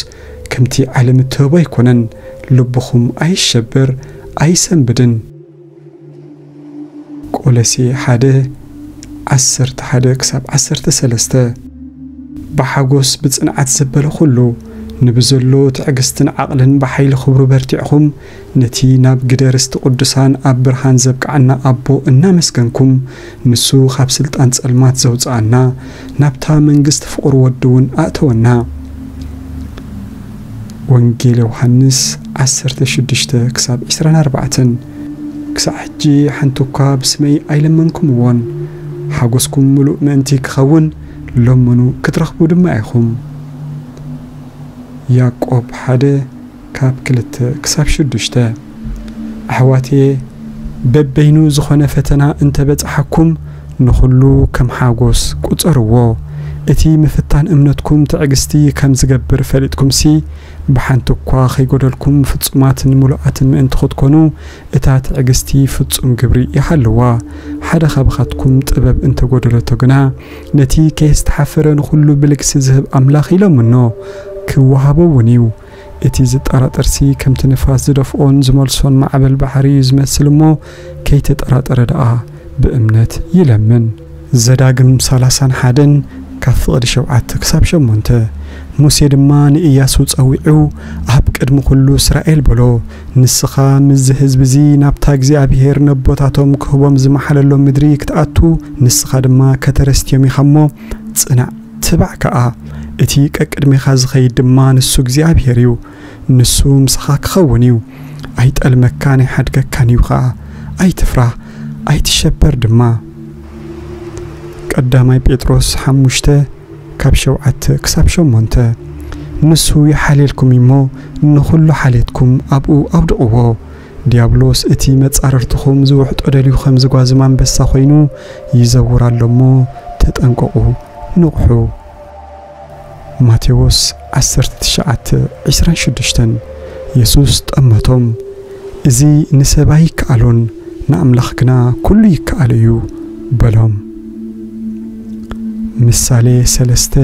ከምቲ ዓለም እትህቦ ኣይኮነን። ልብኹም ኣይሸበር፣ ኣይሰንብድን። ቆሎሴ ሓደ፣ ዓሰርተ ሓደ ክሳብ ዓሰርተ ሰለስተ። ብሓጎስ ብጽንዓት ዘበለ ኩሉ፣ ንብዘሎ ትዕግስትን ዓቕልን ብሓይሊ ክብሩ በርቲዕኹም፣ ነቲ ናብ ግደ ርስቲ ቅዱሳን ኣብ ብርሃን ዘብቅዓና ኣቦ እናመስገንኩም፣ ንሱ ካብ ስልጣን ጸልማት ዘውጽኣና፣ ናብታ መንግስቲ ፍቑር ወዱ እውን ኣእተወና። ወንጌል ዮሃንስ ዓሰርተ ሽዱሽተ ክሳብ ዕስራን ኣርባዕተን። ክሳዕ ሕጂ ሓንቲ እኳ ብስመይ ኣይለመንኩምዎን። ሓጎስኩም ምሉእ ምእንቲ ክኸውን ለምኑ፣ ክትረኽቡ ድማ ኢኹም። ያዕቆብ ሓደ ካብ ክልተ ክሳብ ሽዱሽተ። ኣሕዋትየ፣ በበይኑ ዝኾነ ፈተና እንተበጽሓኩም፣ ንኹሉ ከም ሓጎስ ቁጸርዎ። እቲ ምፍታን እምነትኩም ትዕግስቲ ከም ዝገብር ፈሊጥኩምሲ፣ ብሓንቲ እኳ ከይጎደልኩም ፍጹማትን ምሉኣትን ምእንቲ ክትኮኑ፣ እታ ትዕግስቲ ፍጹም ግብሪ ይሃልዋ። ሓደ ካብኻትኩም ጥበብ እንተጎደለቶ ግና፣ ነቲ ከየስተሓፈረ ንኹሉ ብልግሲ ዝህብ ኣምላኽ ይለምኖ፣ ክወሃቦ እውን እዩ። እቲ ዝጠራጠርሲ ከምቲ ንፋስ ዝደፍኦን ዝመልሶን ማዕበል ባሕሪ እዩ ዝመስል እሞ፣ ከይተጠራጠረ ደኣ ብእምነት ይለምን። ዘዳግም ሰላሳን ሓደን ካብ ፍቕዲ ሸውዓተ ክሳብ ሸሞንተ። ሙሴ ድማ ንኢያሱ ጸዊዑ፣ ኣብ ቅድሚ ኩሉ እስራኤል በሎ፣ ንስኻ ምስዚ ህዝቢ እዚ ናብታ እግዚኣብሄር ነቦታቶም ክህቦም ዝመሓለሎም ምድሪ ክትኣቱ፣ ንስኻ ድማ ከተረስትዮም ኢኻ እሞ፣ ጽናዕ፣ ትባዕ ከኣ። እቲ ቀቅድሜኻ ዝኸይድ ድማ ንሱ እግዚኣብሄር እዩ። ንሱ ምሳኻ ክኸውን እዩ። ኣይጠልመካን ኣይሓድገካን እዩ ኸኣ። ኣይትፍራህ፣ ኣይትሸበር ድማ። ቀዳማይ ጴጥሮስ ሓሙሽተ ካብ ሸውዓተ ክሳብ ሸሞንተ። ንሱ ይሓልየልኩም እሞ፣ ንኹሉ ሓልየትኩም ኣብኡ ኣውድቕዎ። ዲያብሎስ እቲ መጻርርትኹም ዝውሕጦ ደልዩ ከም ዝጓዝም ኣንበሳ ኮይኑ ይዘውር ኣሎ እሞ፣ ተጠንቀቑ፣ ንቕሑ። ማቴዎስ ዓሰርተ ትሽዓተ ዕስራን ሽዱሽተን። የሱስ ጠመቶም፣ እዚ ንሰብ ኣይከኣሎን፣ ንኣምላኽ ግና ኩሉ ይከኣሎ እዩ በሎም። ምሳሌ ሰለስተ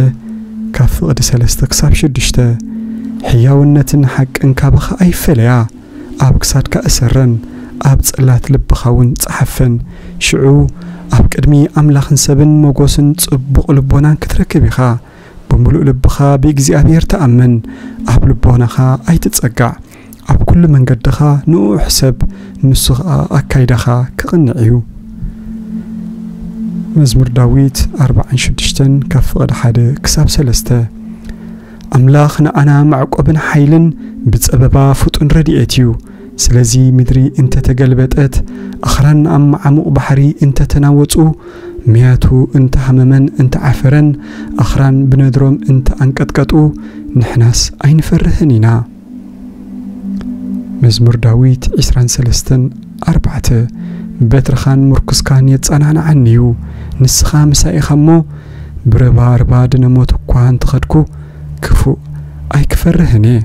ካብ ፍቕዲ ሰለስተ ክሳብ ሽዱሽተ። ሕያውነትን ሓቅን ካባኻ ኣይፈለያ፣ ኣብ ክሳድካ እሰረን፣ ኣብ ጽላት ልብኻ እውን ጸሓፈን። ሽዑ ኣብ ቅድሚ ኣምላኽን ሰብን ሞጎስን ጽቡቕ ልቦናን ክትረክብ ኢኻ። ብምሉእ ልብኻ ብእግዚኣብሔር ተኣመን፣ ኣብ ልቦናኻ ኣይትጸጋዕ። ኣብ ኩሉ መንገድኻ ንእኡ ሕሰብ፣ ንሱ ኸኣ ኣካይዳኻ ክቕንዕ እዩ። መዝሙር ዳዊት ኣርባዓን ሽዱሽተን ካብ ፍቕዲ ሓደ ክሳብ ሰለስተ። ኣምላኽ ንኣና መዕቆብን ሓይልን ብጸበባ ፍጡን ረድኤት እዩ። ስለዚ ምድሪ እንተ ተገልበጠት፣ ኣኽራን ኣብ መዓሙቕ ባሕሪ እንተ ተናወጹ፣ መያቱ እንተ ሃመመን እንተ ዓፈረን፣ ኣኽራን ብነድሮም እንተ ኣንቀጥቀጡ፣ ንሕናስ ኣይንፈርህን ኢና። መዝሙር ዳዊት ዕስራን ሰለስተን ኣርባዕተ። በትርኻን ምርኩስካን የጸናንዓኒ እዩ። ንስኻ ምሳይ ኢኻ እሞ፣ ብርባርባ ድነ ሞት እኳ እንተኸድኩ፣ ክፉእ ኣይክፈርህን እየ።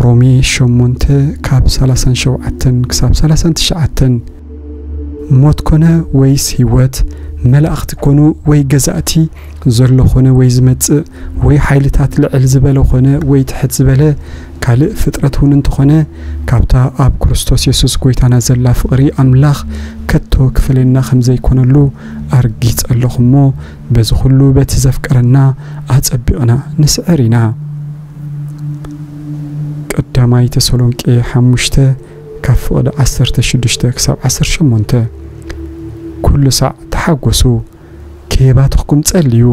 ሮሜ ሸሞንተ ካብ ሰላሳን ሸውዓተን ክሳብ ሰላሳን ትሽዓተን። ሞት ኮነ ወይስ ህይወት፣ መላእኽቲ ኮኑ ወይ ገዛእቲ፣ ዘሎ ኮነ ወይ ዝመጽእ፣ ወይ ሓይልታት ልዕል ዝበለ ኮነ ወይ ትሕት ዝበለ፣ ካልእ ፍጥረት እውን እንተኾነ፣ ካብታ ኣብ ክርስቶስ የሱስ ጎይታና ዘላ ፍቕሪ ኣምላኽ ከቶ ክፈለየና ከም ዘይኮነሉ ኣርጊጸ ኣለኹ እሞ፣ በዚ ኩሉ በቲ ዘፍቀረና ኣጸቢቕና ንስዕር ኢና። ቀዳማይ ተሰሎንቄ ሓሙሽተ ካብ ፍቕዲ ዓሰርተ ሽዱሽተ ክሳብ ዓሰርተ ሸሞንተ። ኩሉ ሳዕ ተሓጎሱ፣ ከየባተኽኩም ጸልዩ።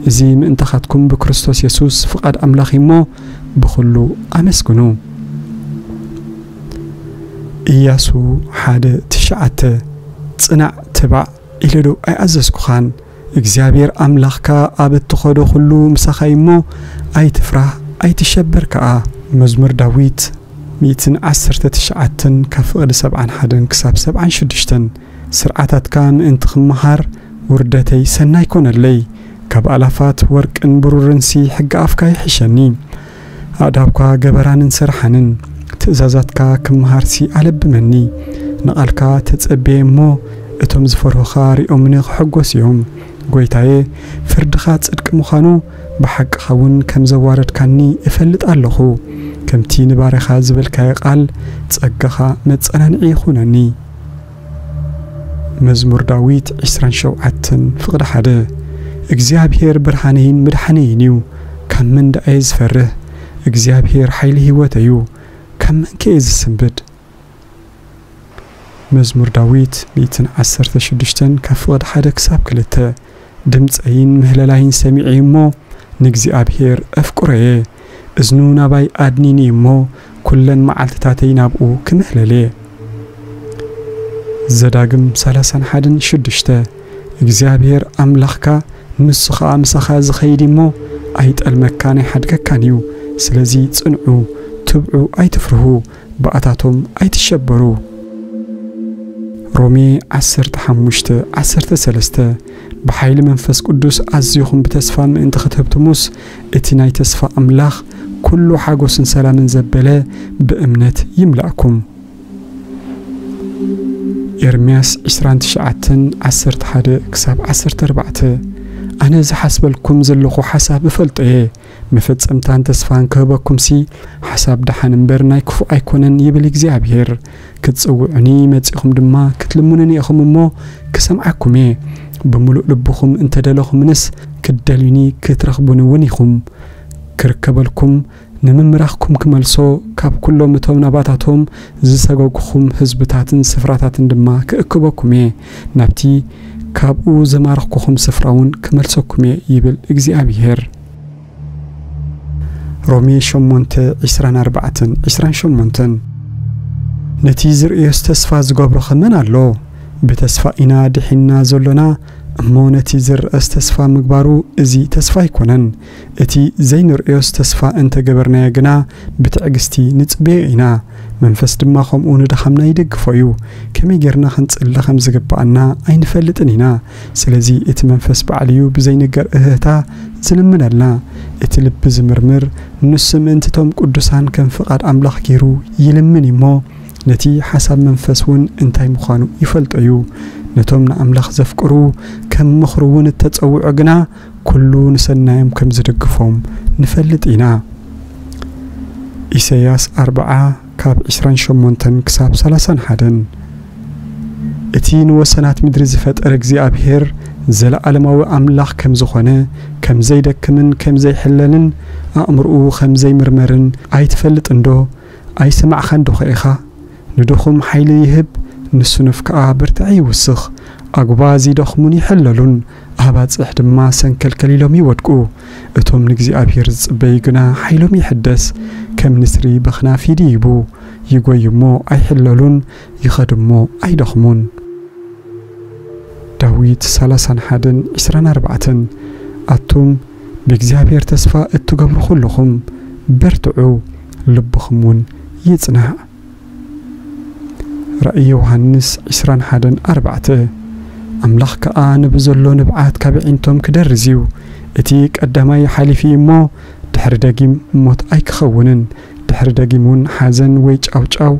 እዚ ምእንታኻትኩም ብክርስቶስ የሱስ ፍቓድ ኣምላኽ እዩ እሞ፣ ብኹሉ ኣመስግኑ። ኢያሱ ሓደ ትሽዓተ። ጽናዕ፣ ትባዕ ኢለ ዶ ኣይኣዘዝኩኻን? እግዚኣብሔር ኣምላኽካ ኣብ እትኸዶ ኩሉ ምሳኻ እዩ እሞ፣ ኣይትፍራህ፣ ኣይትሸበር ከኣ። መዝሙር ዳዊት ሚእትን ዓሰርተ ትሽዓተን ካብ ፍቕዲ ሰብዓን ሓደን ክሳብ ሰብዓን ሽዱሽተን። ስርዓታትካ ምእንቲ ክመሃር ውርደተይ ሰናይ ኮነለይ። ካብ ኣላፋት ወርቅን ብሩርንሲ ሕጊ ኣፍካ ይሕሸኒ። ኣእዳውካ ገበራንን ሰርሓንን፣ ትእዛዛትካ ክመሃርሲ ኣለብመኒ። ንቓልካ ተጸብየ እሞ፣ እቶም ዝፈርሁኻ ሪኦምኒ ክሕጎስ እዮም። ጎይታየ፣ ፍርድኻ ጽድቂ ምዃኑ፣ ብሓቅኻ እውን ከም ዘዋረድካኒ እፈልጥ ኣለኹ። ከምቲ ንባርያኻ ዝበልካዮ ቃል፣ ጸጋኻ መጸናንዒ ይኹነኒ። መዝሙር ዳዊት ዕስራን ሸውዓተን ፍቕዲ ሓደ። እግዚኣብሔር ብርሃነይን ምድሓነይን እዩ፣ ካብ መን ደኣ እየ ዝፈርህ? እግዚኣብሔር ሓይሊ ህይወተይ እዩ፣ ካብ መን ከ እየ ዝስንብድ? መዝሙር ዳዊት ሚእትን ዓሰርተ ሽዱሽተን ካብ ፍቕዲ ሓደ ክሳብ ክልተ። ድምፀይን ምህለላይን ሰሚዐ እሞ ንእግዚኣብሔር ኣፍቅሮየ። እዝኑ ናባይ ኣድኒኒ እሞ ኩለን መዓልትታተይ ናብኡ ክምህለል እየ። ዘዳግም ሰላሳን ሓደን ሽዱሽተ። እግዚኣብሔር ኣምላኽካ ንሱ ኸኣ ምሳኻ ዝኸይድ እሞ ኣይጠልመካን ኣይሓድገካን እዩ። ስለዚ ጽንዑ፣ ትብዑ፣ ኣይትፍርሁ፣ ብኣታቶም ኣይትሸበሩ። ሮሜ ዓሰርተ ሓሙሽተ ዓሰርተ ሰለስተ። ብሓይሊ መንፈስ ቅዱስ ኣዚኹም ብተስፋ ምእንቲ ኽትህብትሙስ፣ እቲ ናይ ተስፋ ኣምላኽ ኩሉ ሓጎስን ሰላምን ዘበለ ብእምነት ይምላእኩም። ኤርምያስ ዕስራን ትሽዓተን ዓሰርተ ሓደ ክሳብ ዓሰርተ ኣርባዕተ። ኣነ ዝሓስበልኩም ዘለኹ ሓሳብ እፈልጦ እየ፣ መፈጸምታን ተስፋን ክህበኩምሲ፣ ሓሳብ ደሓን እምበር ናይ ክፉእ ኣይኮነን፣ ይብል እግዚኣብሔር። ክትጽውዑኒ መጺኹም ድማ ክትልምኑኒ ኢኹም እሞ፣ ክሰምዓኩም እየ። ብምሉእ ልብኹም እንተ ደለኹምንስ፣ ክትደልዩኒ ክትረኽቡኒ እውን ኢኹም። ክርከበልኩም፣ ንምምራኽኩም ክመልሶ፣ ካብ ኩሎም እቶም ናባታቶም ዝሰገጉኹም ህዝብታትን ስፍራታትን ድማ ክእክበኩም እየ። ናብቲ ካብኡ ዘማረኽኩኹም ስፍራ እውን ክመልሰኩም እየ፣ ይብል እግዚኣብሔር። ሮሜ ሸሞንተ ዕስራን ኣርባዕተን ዕስራን ሸሞንተን። ነቲ ዝርእዮስ ተስፋ ዝገብሮ ኸመን ኣሎ? ብተስፋ ኢና ድሒንና ዘሎና እሞ፣ ነቲ ዝርኣስ ተስፋ ምግባሩ እዚ ተስፋ ኣይኮነን። እቲ ዘይንርእዮስ ተስፋ እንተ ገበርናዮ ግና፣ ብትዕግስቲ ንጽበዮ ኢና። መንፈስ ድማ ኸምኡ ንድኻምና ይደግፎ እዩ። ከመይ ጌርና ኽንጽሊ ኸም ዝግብኣና ኣይንፈልጥን ኢና። ስለዚ እቲ መንፈስ ባዕሉ እዩ ብዘይንገር እህህታ ዝልምነልና። እቲ ልቢ ዝምርምር፣ ንሱ ምእንቲ እቶም ቅዱሳን ከም ፍቓድ ኣምላኽ ገይሩ ይልምን እዩ እሞ፣ ነቲ ሓሳብ መንፈስ እውን እንታይ ምዃኑ ይፈልጦ እዩ። ነቶም ንኣምላኽ ዘፍቅሩ፣ ከም ምኽሩ እውን እተጸውዑ ግና፣ ኩሉ ንሰናዮም ከም ዝድግፎም ንፈልጥ ኢና። ኢሳይያስ ኣርብዓ ካብ ዕስራን ሸሞንተን ክሳብ ሰላሳን ሓደን። እቲ ንወሰናት ምድሪ ዝፈጠረ እግዚኣብሔር፣ ዘለኣለማዊ ኣምላኽ ከም ዝኾነ፣ ከም ዘይደክምን ከም ዘይሕለልን፣ ኣእምሮኡ ከም ዘይምርመርን ኣይትፈልጥን ዶ? ኣይሰማዕኻን ዶ ኸ ኢኻ? ንድኹም ሓይሊ ይህብ፣ ንስኑፍ ከኣ ብርትዒ ይውስኽ። ኣጉባ ዝደኽሙን ይሕለሉን፣ ኣባጽሕ ድማ ሰንከልከል ኢሎም ይወድቁ። እቶም ንእግዚኣብሔር ዝጽበዩ ግና ሓይሎም ይሕደስ፣ ከም ንስሪ በኽናፍ ይድይቡ። ይጎዩ እሞ ኣይሕለሉን፣ ይኸዱ እሞ ኣይደኽሙን። ዳዊት ሰላሳን ሓደን ዕስራን ኣርባዕተን። ኣቱም ብእግዚኣብሔር ተስፋ እትገብሩ ኩልኹም በርትዑ፣ ልብኹም እውን ይጽናዕ። ራእይ ዮሃንስ ዕስራን ሓደን ኣርባዕተ። ኣምላኽ ከኣ ንብዘሎ ንብዓት ካብ ኣዒንቶም ክደርዝ እዩ። እቲ ቀዳማይ ሓሊፉ እዩ እሞ፣ ድሕሪ ደጊም ሞት ኣይክኸውንን፣ ድሕሪ ደጊም እውን ሓዘን ወይ ጫውጫው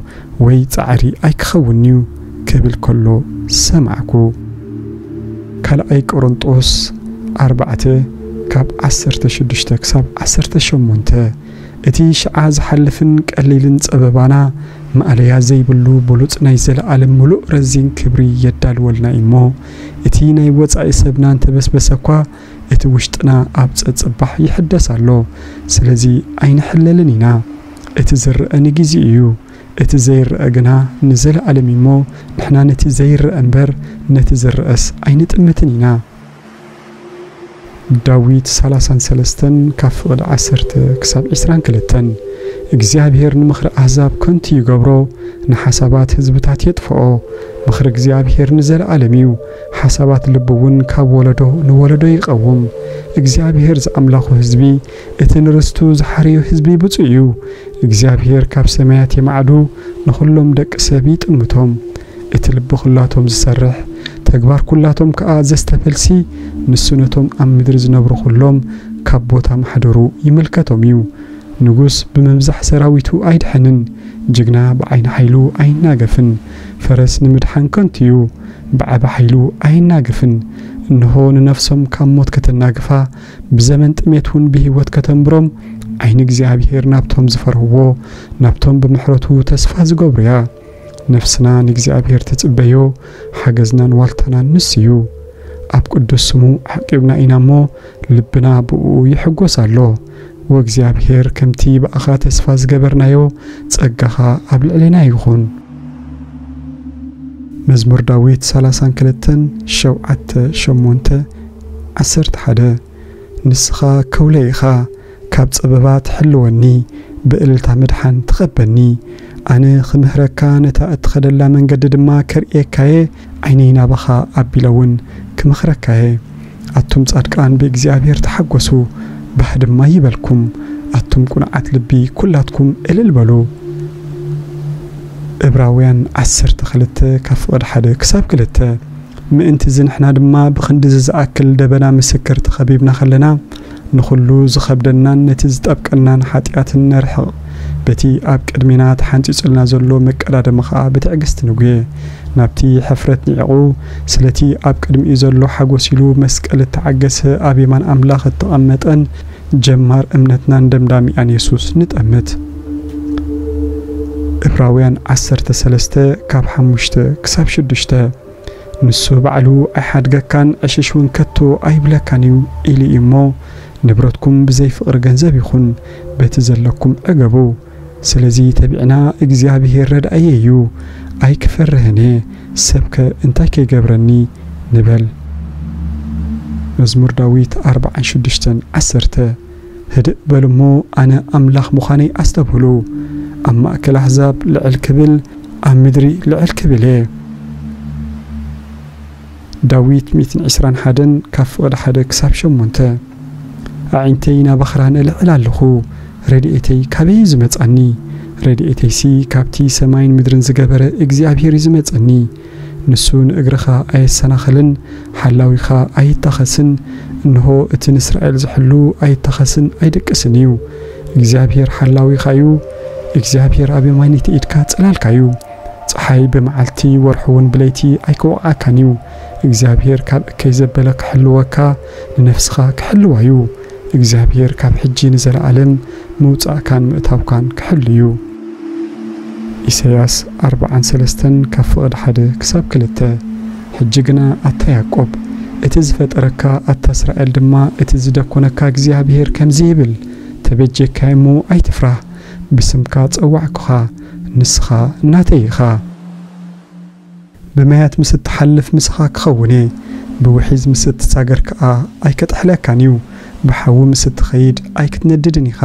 ወይ ጻዕሪ ኣይክኸውንን'ዩ ክብል ከሎ ሰማዕኩ። ካልኣይ ቆሮንጦስ ኣርባዕተ ካብ ዓሰርተ ሽዱሽተ ክሳብ ዓሰርተ ሸሞንተ። እቲ ሽዓ ዝሓልፍን ቀሊልን ጸበባና፣ ማእለያ ዘይብሉ ብሉጽ ናይ ዘለኣለም ምሉእ ረዚን ክብሪ የዳልወልና እዩ እሞ፣ እቲ ናይ ወጻኢ ሰብና እንተበስበሰ እኳ፣ እቲ ውሽጥና ኣብ ጸጸባሕ ይሕደስ ኣሎ። ስለዚ ኣይንሕለልን ኢና። እቲ ዝረአ ንጊዜ እዩ፣ እቲ ዘይረአ ግና ንዘለኣለም እዩ እሞ፣ ንሕና ነቲ ዘይረአ እምበር፣ ነቲ ዝረአስ ኣይንጥምትን ኢና። ዳዊት ሰላሳን ሰለስተን ካብ ፍቕዲ ዓሰርተ ክሳብ ዕስራን ክልተን። እግዚኣብሔር ንምኽሪ ኣህዛብ ከንቱ ይገብሮ፣ ንሓሳባት ህዝብታት የጥፍኦ። ምኽሪ እግዚኣብሔር ንዘለኣለም እዩ፣ ሓሳባት ልቡ እውን ካብ ወለዶ ንወለዶ ይቐውም። እግዚኣብሔር ዝኣምላኹ ህዝቢ፣ እቲ ንርስቱ ዝሓረዮ ህዝቢ ብፁዕ እዩ። እግዚኣብሔር ካብ ሰማያት የማዕዱ፣ ንኹሎም ደቂ ሰብ ይጥምቶም። እቲ ልቢ ኩላቶም ዝሰርሕ፣ ተግባር ኩላቶም ከኣ ዘስተፈልሲ፣ ንሱ ነቶም ኣብ ምድሪ ዝነብሩ ኩሎም ካብ ቦታ ማሕደሩ ይምልከቶም እዩ። ንጉስ ብምብዛሕ ሰራዊቱ ኣይድሕንን፣ ጅግና ብዓይኒ ሓይሉ ኣይናገፍን። ፈረስ ንምድሓን ከንቱ እዩ፣ ብዓቢ ሓይሉ ኣይናገፍን። እንሆ ንነፍሶም ካብ ሞት ከተናግፋ፣ ብዘመን ጥሜት እውን ብህይወት ከተንብሮም፣ ዓይኒ እግዚኣብሔር ናብቶም ዝፈርህዎ፣ ናብቶም ብምሕረቱ ተስፋ ዝገብሩ እያ። ነፍስና ንእግዚኣብሔር ትጽበዮ፣ ሓገዝናን ዋልታናን ንሱ እዩ። ኣብ ቅዱስ ስሙ ዓቂብና ኢና እሞ፣ ልብና ብእኡ ይሕጎስ ኣሎ። ወእግዚኣብሔር ከምቲ ብኣኻ ተስፋ ዝገበርናዮ፣ ጸጋኻ ኣብ ልዕሌና ይኹን። መዝሙር ዳዊት ሰላሳን ክልተን፣ ሸውዓተ፣ ሸሞንተ፣ ዓሰርተ ሓደ። ንስኻ ከውለ ኢኻ፣ ካብ ጸበባ ትሕልወኒ፣ ብእልልታ ምድሓን ትቐበኒ። ኣነ ክምህረካ፣ ነታ እትኸደላ መንገዲ ድማ ከርእየካየ፣ ዓይነይ ናባኻ ኣቢለ እውን ክመኽረካየ። ኣቱም ጻድቃን ብእግዚኣብሔር ተሓጎሱ፣ ባህ ድማ ይበልኩም። ኣቱም ቁኑዓት ልቢ ኩላትኩም እልል በሉ። እብራውያን ዓሰርተ ክልተ ካብ ፍቕዲ ሓደ ክሳብ ክልተ። ምእንቲ እዚ ንሕና ድማ ብኽንዲ እዚ ዝኣክል ደበና ምስክር ተኸቢብና ከለና፣ ንኹሉ ዝኸብደናን ነቲ ዝጠብቀናን ሓጢኣትን ነርሕቕ። በቲ ኣብ ቅድሜና ተሓንጺጹልና ዘሎ መቀዳደሚ ኸኣ ብትዕግስቲ ንጉየ። ናብቲ ሕፍረት ንዒቑ፣ ስለቲ ኣብ ቅድሚኡ ዘሎ ሓጎስ ኢሉ መስቀል እተዓገሰ ኣብ የማን ኣምላኽ እተቐመጠን ጀማር እምነትናን ደምዳሚኣን የሱስ ንጠምት። እብራውያን ዓሰርተ ሰለስተ ካብ ሓሙሽተ ክሳብ ሽዱሽተ። ንሱ ባዕሉ ኣይሓድገካን፣ ዕሽሽ እውን ከቶ ኣይብለካን እዩ ኢሉ እዩ እሞ፣ ንብረትኩም ብዘይ ፍቕሪ ገንዘብ ይኹን፣ በቲ ዘለኩም ዕገቡ። ስለዚ ተቢዕና፣ እግዚኣብሄር ረድኣየ እዩ፣ ኣይክፈርህን እየ፣ ሰብከ እንታይ ከይገብረኒ ንበል። መዝሙር ዳዊት ኣርብዓን ሽዱሽተን ዓሰርተ። ህድእ በሉ እሞ ኣነ ኣምላኽ ምዃነይ ኣስተብህሉ። ኣብ ማእከል ኣህዛብ ልዕል ክብል፣ ኣብ ምድሪ ልዕል ክብል እየ። ዳዊት ሚእትን ዕስራን ሓደን ካብ ፍቕዲ ሓደ ክሳብ ሸሞንተ። ኣዒንተይ ናብ ኣኽራን እልዕል ኣለኹ፣ ረድኤተይ ካበይ እዩ ዝመጻኒ? ረድኤተይሲ ካብቲ ሰማይን ምድርን ዝገበረ እግዚኣብሄር እዩ ዝመጸኒ። ንሱ ንእግርኻ ኣየሰናኽልን፣ ሓላዊኻ ኣይታኸስን። እንሆ፣ እቲ ንእስራኤል ዝሕሉ ኣይታኸስን ኣይድቅስን እዩ። እግዚኣብሄር ሓላዊኻ እዩ፣ እግዚኣብሄር ኣብ የማነይቲ ኢድካ ጽላልካ እዩ። ጸሓይ ብመዓልቲ፣ ወርሒ እውን ብለይቲ ኣይክወቕዓካን እዩ። እግዚኣብሄር ካብ እከይ ዘበለ ክሕልወካ፣ ንነፍስኻ ክሕልዋ እዩ። እግዚኣብሄር ካብ ሕጂ ንዘለኣለም ምውጻእካን ምእታውካን ክሕሉ እዩ። ኢሳይያስ ኣርብዓን ሰለስተን ካብ ፍቕዲ ሓደ ክሳብ ክልተ። ሕጂ ግና ኣታ ያዕቆብ፣ እቲ ዝፈጠረካ፣ ኣታ እስራኤል ድማ፣ እቲ ዝደኮነካ እግዚኣብሄር ከምዚ ይብል፣ ተበጀካይ እሞ ኣይትፍራህ፣ ብስምካ ጸዋዕኩኻ፣ ንስኻ ናተይ ኢኻ። ብማያት ምስ እትሓልፍ ምሳኻ ክኸውን እየ፣ ብውሒዝ ምስ እትሳገር ከኣ ኣይከጥሕለካን እዩ። ብሓዊ ምስ እትኸይድ ኣይክትነድድን ኢኻ፣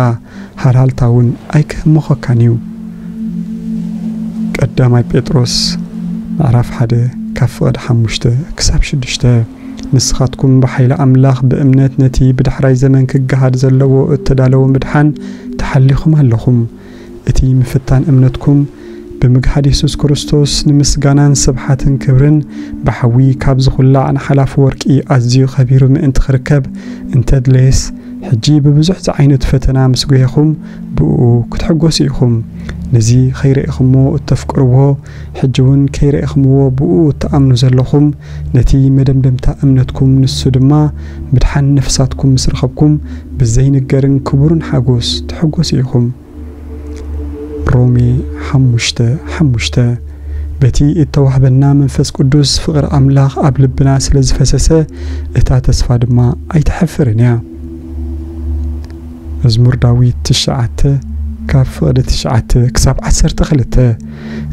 ሃልሃልታ እውን ኣይክህምኾካን እዩ። ቀዳማይ ጴጥሮስ ምዕራፍ ሓደ ካብ ፍቕዲ ሓሙሽተ ክሳብ ሽዱሽተ። ንስኻትኩም ብሓይሊ ኣምላኽ ብእምነት ነቲ ብዳሕራይ ዘመን ክገሃድ ዘለዎ እተዳለወ ምድሓን ተሓሊኹም ኣለኹም። እቲ ምፍታን እምነትኩም ብምግሃድ የሱስ ክርስቶስ ንምስጋናን ስብሓትን ክብርን ብሓዊ ካብ ዝኹላዕ ንሓላፊ ወርቂ ኣዝዩ ኸቢሩ ምእንቲ ክርከብ እንተድለየስ፣ ሕጂ ብብዙሕ ዝዓይነቱ ፈተና ምስ ጒሄኹም ብእኡ ክትሕጎሱ ኢኹም። ነዚ ኸይረኢኹምዎ እተፍቅርዎ፣ ሕጂ እውን ከይረኢኹምዎ ብእኡ እትኣምኑ ዘለኹም፣ ነቲ መደምደምታ እምነትኩም ንሱ ድማ ምድሓን ነፍሳትኩም ምስ ረኸብኩም ብዘይንገርን ክቡርን ሓጎስ ትሕጎሱ ኢኹም። ሮሜ ሓሙሽተ ሓሙሽተ። በቲ እተዋህበና መንፈስ ቅዱስ ፍቕሪ ኣምላኽ ኣብ ልብና ስለ ዝፈሰሰ፣ እታ ተስፋ ድማ ኣይትሐፍርን እያ። መዝሙር ዳዊት ትሽዓተ ካብ ፍቕዲ ትሽዓተ ክሳብ ዓሰርተ ክልተ።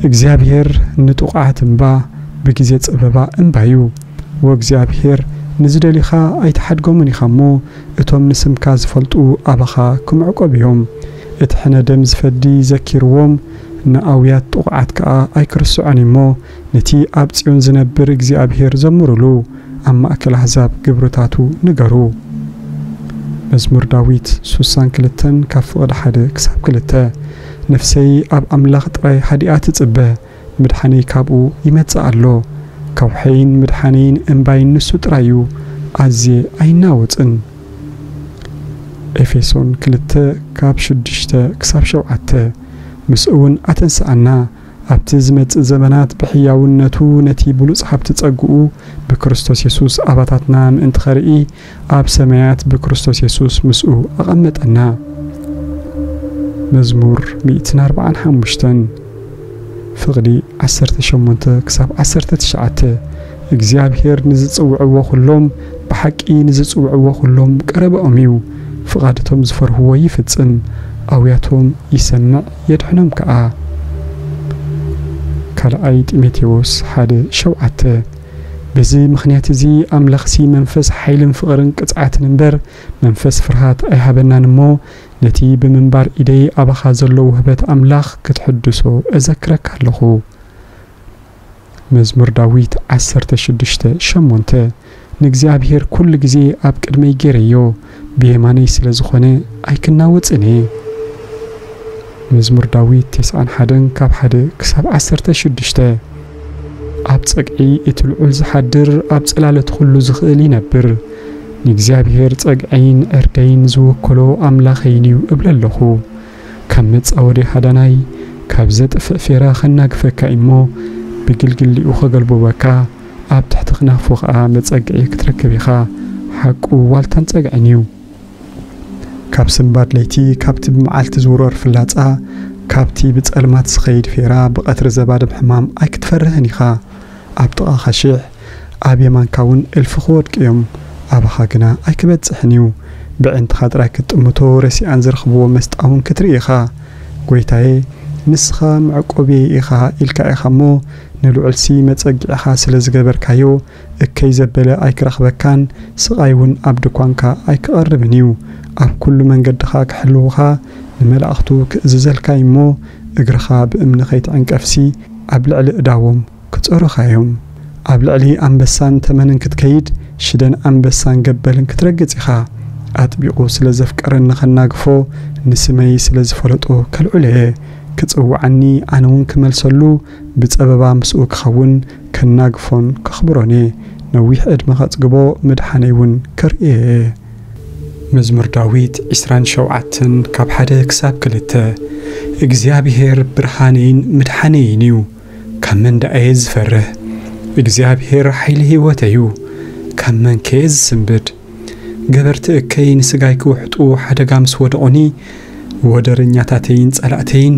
እግዚኣብሔር ንጥቑዓት እምባ፣ ብግዜ ጸበባ እምባ እዩ። ወእግዚኣብሔር ንዝደልዩኻ ኣይትሓድጎምን ኢኻ እሞ፣ እቶም ንስምካ ዝፈልጡ ኣባኻ ክምዕቆብ እዮም። እቲ ሕነ ደም ዝፈዲ ዘኪርዎም፣ ንኣውያት ጥቑዓት ከኣ ኣይክርስዖን እሞ፣ ነቲ ኣብ ጽዮን ዝነብር እግዚኣብሔር ዘምሩሉ፣ ኣብ ማእከል ኣሕዛብ ግብርታቱ ንገሩ። መዝሙር ዳዊት ሱሳን ክልተን ካብ ፍቕዲ ሓደ ክሳብ ክልተ። ነፍሰይ ኣብ ኣምላኽ ጥራይ ሃዲኣ ትጽበ፣ ምድሓነይ ካብኡ ይመጽእ ኣሎ። ከውሐይን ምድሓነይን እምባይን ንሱ ጥራይ እዩ፣ ኣዝየ ኣይናወጽን። ኤፌሶን ክልተ ካብ ሽዱሽተ ክሳብ ሸውዓተ። ምስኡ እውን ኣተንስኣና፣ ኣብቲ ዝመጽእ ዘመናት ብሕያውነቱ ነቲ ብሉጽ ሃብቲ ጸግኡ ብክርስቶስ የሱስ ኣባታትና ምእንቲ ኸርኢ፣ ኣብ ሰማያት ብክርስቶስ የሱስ ምስኡ ኣቐመጠና። መዝሙር ሚእትን ኣርባዓን ሓሙሽተን ፍቕዲ ዓሰርተ ሸሞንተ ክሳብ ዓሰርተ ትሽዓተ። እግዚኣብሔር ንዝጽውዕዎ ኹሎም፣ ብሓቂ ንዝጽውዕዎ ኹሎም ቀረባኦም እዩ። ፍቓድቶም ዝፈርህዎ ይፍጽም፣ ኣውያቶም ይሰምዕ የድሕኖም ከኣ። ካልኣይ ጢሞቴዎስ ሓደ ሸውዓተ። በዚ ምኽንያት እዚ ኣምላኽሲ መንፈስ ሓይልን ፍቕርን ቅጽዓትን እምበር መንፈስ ፍርሃት ኣይሃበናን እሞ፣ ነቲ ብምንባር ኢደይ ኣባኻ ዘሎ ውህበት ኣምላኽ ክትሕድሶ እዘክረካ ኣለኹ። መዝሙር ዳዊት ዓሰርተ ሽዱሽተ ሸሞንተ። ንእግዚኣብሔር ኩሉ ግዜ ኣብ ቅድመይ ገይረዮ፣ ብየማነይ ስለ ዝኾነ ኣይክናወጽን እየ። መዝሙር ዳዊት ተስዓን ሓደን ካብ ሓደ ክሳብ ዓሰርተ ሽዱሽተ። ኣብ ጸግዒ እቲ ልዑል ዝሓድር፣ ኣብ ጽላለት ኩሉ ዝኽእል ይነብር። ንእግዚኣብሔር ጸግዐይን ዕርደይን ዝወከሎ ኣምላኸይን እዩ እብል ኣለኹ። ካብ መጻወዲ ሃዳናይ፣ ካብ ዘጥፍእ ፌራ ኸናግፈካ እሞ፣ ብግልግሊኡ ኸገልብበካ፣ ኣብ ትሕቲ ክናፉ ኸኣ መጸግዒ ክትረክብ ኢኻ። ሓቁ ዋልታን ጸግዕን እዩ። ካብ ስንባድ ለይቲ፣ ካብቲ ብመዓልቲ ዝውረር ፍላጻ፣ ካብቲ ብጸልማት ዝኸይድ ፌራ፣ ብቐትሪ ዘባድም ሕማም ኣይክትፈርህን ኢኻ። ኣብ ጥቓኻ ሽሕ፣ ኣብ የማንካ እውን እልፊ ክወድቁ እዮም፣ ኣባኻ ግና ኣይክበጽሕን እዩ። ብዕንትኻ ጥራይ ክትጥምቶ፣ ረሲኣን ዝረኽብዎ መስጣ እውን ክትርኢ ኢኻ። ጐይታየ፣ ንስኻ መዕቆብየይ ኢኻ ኢልካ ኢኻ እሞ፣ ንልዑልሲ መጸግዒኻ ስለ ዝገበርካዮ፣ እከይ ዘበለ ኣይክረኽበካን፣ ስቓይ እውን ኣብ ድኳንካ ኣይክቐርብን እዩ። ኣብ ኩሉ መንገድኻ ክሕልዉኻ፣ ንመላእኽቱ ክእዝዘልካ እዩ እሞ፣ እግርኻ ብእምኒ ከይትዕንቀፍሲ፣ ኣብ ልዕሊ እዳዎም ክጸሩኻ እዮም። ኣብ ልዕሊ ኣንበሳን ተመንን ክትከይድ፣ ሽደን ኣንበሳን ገበልን ክትረግጽ ኢኻ። ኣጥቢቑ ስለ ዘፍቀረኒ ኸናግፎ፣ ንስመይ ስለ ዝፈለጦ ከልዕሎ እየ። ክጽውዓኒ፣ ኣነ እውን ክመልሰሉ፣ ብጸበባ ምስኡ ክኸውን፣ ከናግፎን ከኽብሮን እየ። ነዊሕ ዕድመ ኸጽግቦ፣ ምድሓነይ እውን ከርእዮ እየ። መዝሙር ዳዊት ዕስራን ሸውዓተን ካብ ሓደ ክሳብ ክልተ። እግዚኣብሔር ብርሃነይን ምድሓነይን እዩ፣ ካብ መን ደኣ እየ ዝፈርህ? እግዚኣብሔር ሓይሊ ህይወተይ እዩ፣ ካብ መን ከ እየ ዝስንብድ? ገበርቲ እከይ ንስጋይ ክውሕጡ ሓደጋ ምስ ወደቑኒ፣ ወደረኛታተይን ጸላእተይን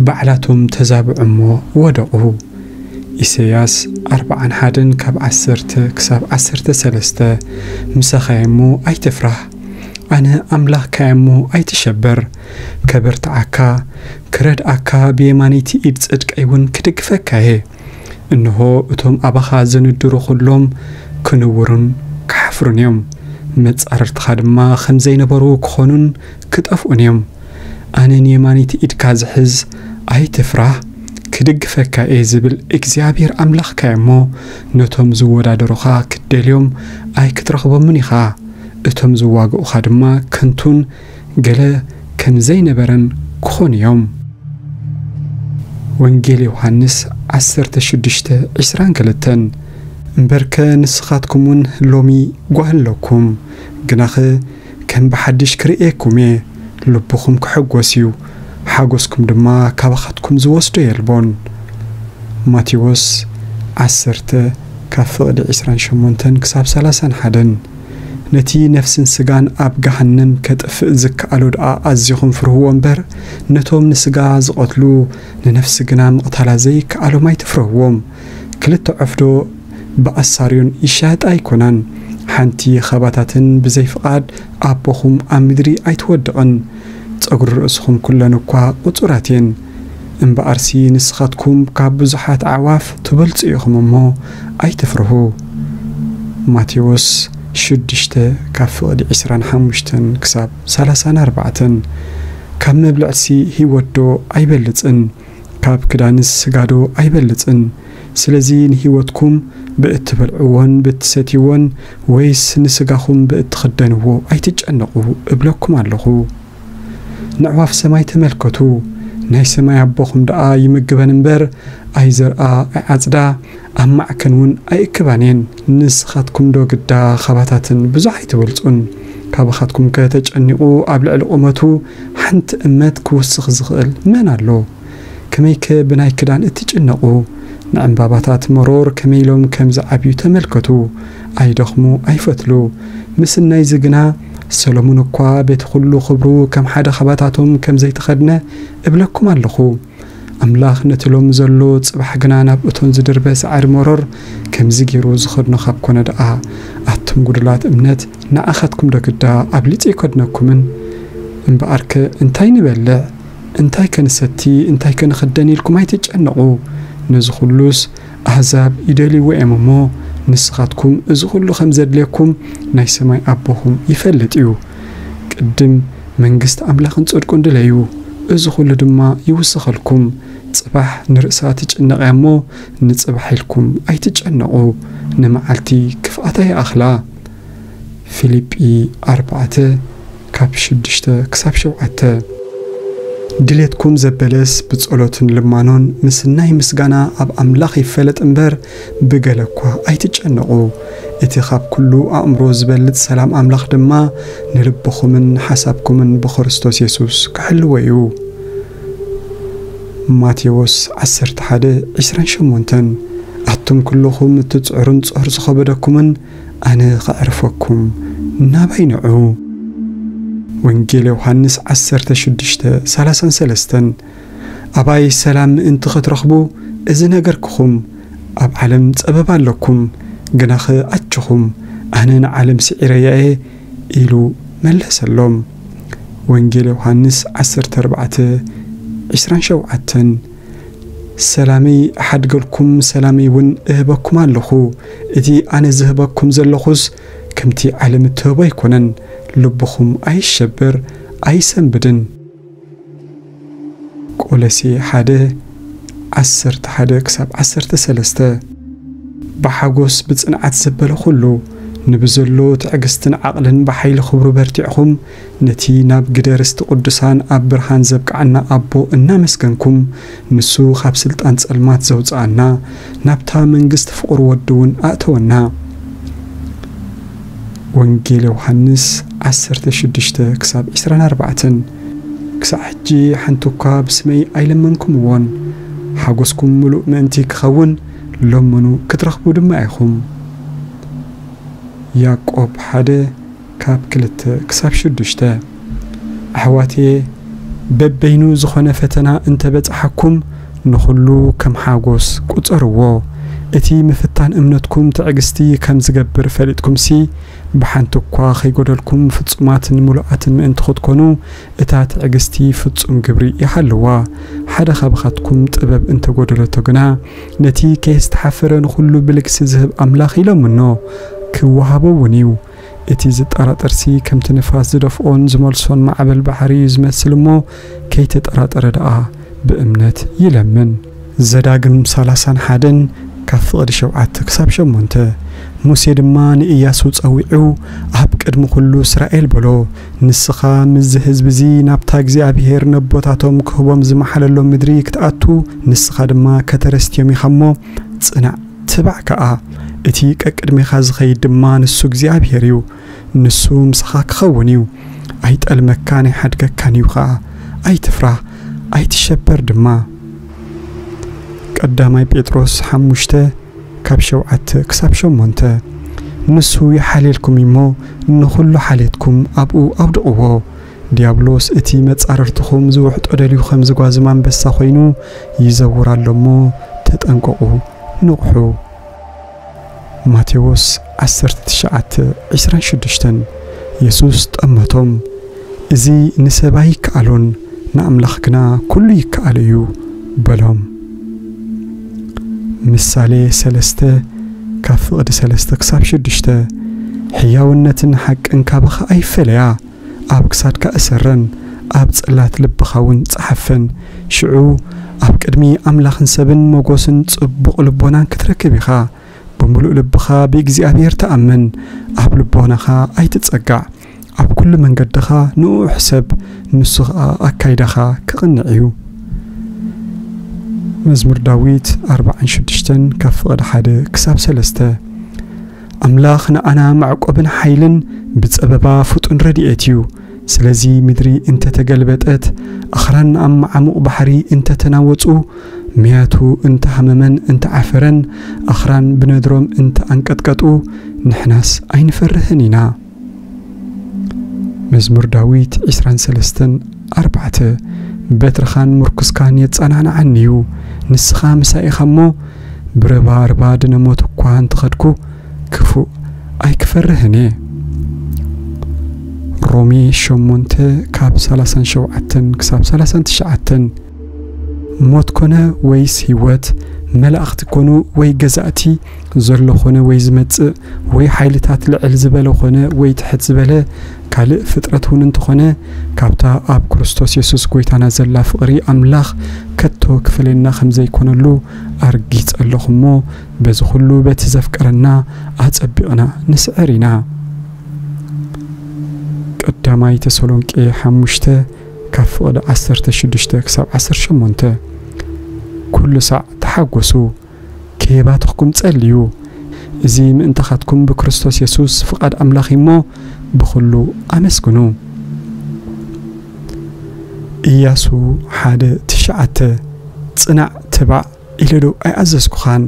ባዕላቶም ተዛብዑ እሞ ወደቑ። ኢሳይያስ ኣርብዓን ሓደን ካብ ዓሰርተ ክሳብ ዓሰርተ ሰለስተ። ምሳኻ እየ እሞ ኣይትፍራህ፣ ኣነ ኣምላኽካ እየ እሞ ኣይትሸበር። ከበርትዓካ፣ ክረድኣካ፣ ብየማነይቲ ኢድ ጽድቀይ እውን ክድግፈካ እየ። እንሆ፣ እቶም ኣባኻ ዝንድሩ ኹሎም ክንውሩን ክሓፍሩን እዮም። መጻርርትኻ ድማ ከም ዘይነበሩ ክኾኑን ክጠፍኡን እዮም። ኣነ ንየማነይቲ ኢድካ ዝሕዝ፣ ኣይትፍራህ፣ ክድግፈካ እየ ዝብል እግዚኣብሔር ኣምላኽካ እየ እሞ፣ ነቶም ዝወዳደሩኻ ክትደልዮም ኣይክትረኽቦምን ኢኻ። እቶም ዝዋግኡኻ ድማ ከንቱን ገለ ከም ዘይነበረን ክኾኑ እዮም። ወንጌል ዮሃንስ ዓሰርተ ሽዱሽተ ዕስራን ክልተን። እምበርከ ንስኻትኩም እውን ሎሚ ጓል ኣለኩም፣ ግናኸ ከም ብሓድሽ ክርእየኩም እየ፣ ልብኹም ክሕጎስ እዩ፣ ሓጎስኩም ድማ ካባኻትኩም ዝወስዶ የልቦን። ማቴዎስ ዓሰርተ ካብ ፍቕዲ ዕስራን ሸሞንተን ክሳብ ሰላሳን ሓደን። ነቲ ነፍስን ስጋን ኣብ ገሃነም ከጥፍእ ዝከኣሎ ደኣ ኣዚኹም ፍርህዎ እምበር፣ ነቶም ንስጋ ዝቐትሉ ንነፍሲ ግና ምቕታላ ዘይከኣሎም ኣይትፍርህዎም። ክልተ ዕፍዶ ብኣሳርዮን ይሻየጣ ኣይኮናን። ሓንቲ ኻባታተን ብዘይ ፍቓድ ኣቦኹም ኣብ ምድሪ ኣይትወድቕን። ጸጉሪ ርእስኹም ኩለን እኳ ቁጹራት እየን። እምበኣርሲ ንስኻትኩም ካብ ብዙሓት ኣዕዋፍ ትበልጹ ኢኹም እሞ ኣይትፍርሁ። ማቴዎስ ሽዱሽተ ካብ ፍቕዲ ዕስራን ሓሙሽተን ክሳብ ሰላሳን ኣርባዕተን። ካብ መብልዕሲ ህይወት ዶ ኣይበልጽን? ካብ ክዳንስ ስጋ ዶ ኣይበልጽን? ስለዚ ንህይወትኩም ብእትበልዕዎን ብእትሰትይዎን ወይስ ንስጋኹም ብእትኽደንዎ ኣይትጨነቑ እብለኩም ኣለኹ። ነዕዋፍ ሰማይ ተመልከቱ፣ ናይ ሰማይ ኣቦኹም ደኣ ይምግበን እምበር ኣይዘርኣ ኣይዓጽዳ፣ ኣብ ማዕከን እውን ኣይእክባን እየን። ንስኻትኩም ዶ ግዳ ኻባታተን ብዙሕ ኣይትበልጹን? ካባኻትኩም ከ ተጨኒቑ ኣብ ልዕሊ ቁመቱ ሓንቲ እመት ክውስኽ ዝኽእል መን ኣሎ? ከመይከ ብናይ ክዳን እትጭነቑ? ንዕምባባታት መሮር ከመይ ኢሎም ከም ዝዓብዩ ተመልከቱ። ኣይደኽሙ፣ ኣይፈትሉ። ምስናይዚ ግና ሰሎሞን እኳ በቲ ኹሉ ኽብሩ ከም ሓደ ኻባታቶም ከም ዘይተኸድነ እብለኩም ኣለኹ። ኣምላኽ ነቲ ሎሚ ዘሎ ጽባሕ ግና ናብ እቶን ዝድርበ ሳዕሪ መሮር ከምዚ ገይሩ ዝኸድኖ ካብ ኮነ ደኣ፣ ኣቱም ጉዱላት እምነት፣ ንኣኻትኩም ዶ ግዳ ኣብሊጹ ኣይከድነኩምን? እምበኣርከ እንታይ ንበልዕ? እንታይ ከ ንሰቲ? እንታይ ከ ንኽደን ኢልኩም ኣይትጨነቑ። ነዚ ኹሉስ ኣህዛብ ይደልይዎ እዮም እሞ፣ ንስኻትኩም እዚ ኹሉ ከም ዘድልየኩም ናይ ሰማይ ኣቦኹም ይፈልጥ እዩ። ቅድም መንግስቲ ኣምላኽን ጽድቁን ድለዩ፣ እዚ ኹሉ ድማ ይውሰኸልኩም። ጽባሕ ንርእሳ ትጭነቕ እያ እሞ፣ ንጽባሕ ኢልኩም ኣይትጨነቑ፣ ንመዓልቲ ክፍኣታ ይኣኽላ። ፊልጲ ኣርባዕተ ካብ ሽዱሽተ ክሳብ ሸውዓተ። ድሌትኩም ዘበለስ ብጸሎትን ልማኖን ምስናይ ምስጋና ኣብ ኣምላኽ ይፈለጥ እምበር፣ ብገለ እኳ ኣይትጨነቑ። እቲ ካብ ኩሉ ኣእምሮ ዝበልጽ ሰላም ኣምላኽ ድማ ንልብኹምን ሓሳብኩምን ብክርስቶስ የሱስ ክሕልዎ እዩ። ማቴዎስ ዓሰርተ ሓደ ዕስራን ሸሞንተን። ኣቱም ኩልኹም እትጽዕሩን ጾር ዝኸበደኩምን፣ ኣነ ኸዕርፈኩም፣ ናባይ ንዑ። ወንጌል ዮሃንስ ዓሰርተ ሽዱሽተ ሰላሳን ሰለስተን። ኣባይ ሰላም ምእንቲ ኽትረኽቡ እዚ ነገርኩኹም። ኣብ ዓለም ጸበባ ኣለኩም፣ ግናኸ ኣችኹም፣ ኣነ ንዓለም ስዒረያ እየ ኢሉ መለሰሎም። ወንጌል ዮሃንስ ዓሰርተ ኣርባዕተ ዕስራን ሸውዓተን። ሰላመይ እሓድገልኩም፣ ሰላመይ እውን እህበኩም ኣለኹ። እቲ ኣነ ዝህበኩም ዘለኹስ ከምቲ ዓለም እትህቦ ኣይኮነን። ልብኹም ኣይሸበር፣ ኣይሰንብድን። ቆሎሴ ሓደ ዓሰርተ ሓደ ክሳብ ዓሰርተ ሰለስተ። ብሓጎስ ብጽንዓት ዘበለ ኹሉ፣ ንብዘሎ ትዕግስትን ዓቕልን ብሓይሊ ኽብሩ በርቲዕኹም፣ ነቲ ናብ ግደ ርስቲ ቅዱሳን ኣብ ብርሃን ዘብቅዓና ኣቦ እናመስገንኩም፣ ንሱ ኻብ ስልጣን ጸልማት ዘውጽኣና፣ ናብታ መንግስቲ ፍቑር ወዱ እውን ኣእተወና። ወንጌል ዮሃንስ ዓሰርተ ሽዱሽተ ክሳብ ዕስራን ኣርባዕተን። ክሳዕ ሕጂ ሓንቲ እኳ ብስመይ ኣይለመንኩምዎን፣ ሓጎስኩም ምሉእ ምእንቲ ክኸውን ለምኑ፣ ክትረኽቡ ድማ ኢኹም። ያዕቆብ ሓደ ካብ ክልተ ክሳብ ሽዱሽተ። ኣሕዋትየ፣ በበይኑ ዝኾነ ፈተና እንተ በጽሓኩም፣ ንኹሉ ከም ሓጎስ ቁጸርዎ። እቲ ምፍታን እምነትኩም ትዕግስቲ ከም ዝገብር ፈሊጥኩምሲ፣ ብሓንቲ እኳ ኸይጎደልኩም ፍጹማትን ምሉኣትን ምእንቲ ኽትኮኑ፣ እታ ትዕግስቲ ፍጹም ግብሪ ይሃልዋ። ሓደ ኻባኻትኩም ጥበብ እንተ ጐደለቶ ግና፣ ነቲ ከየስተሓፈረ ንኹሉ ብልግሲ ዝህብ ኣምላኽ ይለምኖ፣ ክወሃቦ እውን እዩ። እቲ ዝጠራጠርሲ ከምቲ ንፋስ ዝደፍኦን ዝመልሶን ማዕበል ባሕሪ እዩ ዝመስል እሞ፣ ከይተጠራጠረ ደኣ ብእምነት ይለምን። ዘዳግም ሰላሳን ሓደን ካብ ፍቕዲ ሸውዓተ ክሳብ ሸሞንተ። ሙሴ ድማ ንእያሱ ጸዊዑ፣ ኣብ ቅድሚ ኩሉ እስራኤል በሎ፣ "ንስኻ ምስዚ ህዝቢ እዚ ናብታ እግዚኣብሄር ነቦታቶም ክህቦም ዝመሓለሎም ምድሪ ክትኣቱ፣ ንስኻ ድማ ከተረስትዮም ኢኻ እሞ፣ ጽናዕ፣ ትባዕ ከኣ። እቲ ቀቅድሜኻ ዝኸይድ ድማ ንሱ እግዚኣብሄር እዩ። ንሱ ምሳኻ ክኸውን እዩ። ኣይጠልመካን ኣይሓድገካን እዩ ኸኣ። ኣይትፍራህ፣ ኣይትሸበር ድማ።" ቀዳማይ ጴጥሮስ ሓሙሽተ ካብ ሸውዓተ ክሳብ ሸሞንተ። "ንሱ ይሓልየልኩም እሞ፣ ንኹሉ ሓልየትኩም ኣብኡ ኣውድቕዎ። ዲያብሎስ እቲ መጻርርትኹም ዝውሕጦ ደልዩ ከም ዝጓዝም ኣንበሳ ኮይኑ ይዘውር ኣሎ እሞ፣ ተጠንቀቑ፣ ንቕሑ።" ማቴዎስ ዓሰርተ ትሽዓተ ዕስራን ሽዱሽተን። የሱስ ጠመቶም፣ "እዚ ንሰብ ኣይከኣሎን፣ ንኣምላኽ ግና ኩሉ ይከኣሎ እዩ" በሎም። ምሳሌ ሰለስተ ካብ ፍቕዲ ሰለስተ ክሳብ ሽዱሽተ። "ሕያውነትን ሓቅን ካባኻ ኣይፈለያ፣ ኣብ ክሳድካ እሰረን፣ ኣብ ጽላት ልብኻ እውን ጸሓፈን። ሽዑ ኣብ ቅድሚ ኣምላኽን ሰብን ሞጎስን ጽቡቕ ልቦናን ክትረክብ ኢኻ። ብምሉእ ልብኻ ብእግዚኣብሔር ተኣመን፣ ኣብ ልቦናኻ ኣይትጸጋዕ፣ ኣብ ኩሉ መንገድኻ ንእኡ ሕሰብ፣ ንሱ ኸኣ ኣካይዳኻ ክቕንዕ እዩ።" መዝሙር ዳዊት ኣርባዓን ሽዱሽተን ካብ ፍቕዲ ሓደ ክሳብ ሰለስተ። ኣምላኽ ንኣና መዕቆብን ሓይልን ብጸበባ ፍጡን ረድኤት እዩ። ስለዚ ምድሪ እንተ ተገልበጠት፣ ኣኽራን ኣብ መዓሙቕ ባሕሪ እንተ ተናወጹ፣ መያቱ እንተ ሃመመን እንተ ዓፈረን፣ ኣኽራን ብነድሮም እንተ ኣንቀጥቀጡ፣ ንሕናስ ኣይንፈርህን ኢና። መዝሙር ዳዊት ዕስራን ሰለስተን ኣርባዕተ። በትርኻን ምርኩስካን የጸናንዓኒ እዩ፣ ንስኻ ምሳይ ኢኻ እሞ፣ ብረባርባ ድነ ሞት እኳ እንተኸድኩ፣ ክፉእ ኣይክፈርህን እየ። ሮሜ ሸሞንተ ካብ ሰላሳን ሸውዓተን ክሳብ ሰላሳን ትሽዓተን። ሞት ኮነ ወይስ ህይወት፣ መላእኽቲ ኮኑ ወይ ገዛእቲ፣ ዘሎ ኮነ ወይ ዝመጽእ፣ ወይ ሓይልታት ልዕል ዝበለ ኮነ ወይ ትሕት ዝበለ፣ ካልእ ፍጥረት እውን እንተኾነ፣ ካብታ ኣብ ክርስቶስ የሱስ ጐይታና ዘላ ፍቕሪ ኣምላኽ ከቶ ክፈልየና ከም ዘይኮነሉ ኣርጊጸ ኣለኹ እሞ፣ በዚ ኹሉ በቲ ዘፍቀረና ኣጸቢቕና ንስዕር ኢና። ቀዳማይ ተሰሎንቄ ሓሙሽተ ካብ ፍቕዲ ዓሰርተ ሽዱሽተ ክሳብ ዓሰርተ ሸሞንተ። ኩሉ ሳዕ ተሓጎሱ፣ ከየባተኽኩም ጸልዩ። እዚ ምእንታኻትኩም ብክርስቶስ የሱስ ፍቓድ ኣምላኽ እዩ እሞ፣ ብኹሉ ኣመስግኑ። ኢያሱ ሓደ ትሽዓተ። ጽናዕ፣ ትባዕ ኢለ ዶ ኣይኣዘዝኩኻን?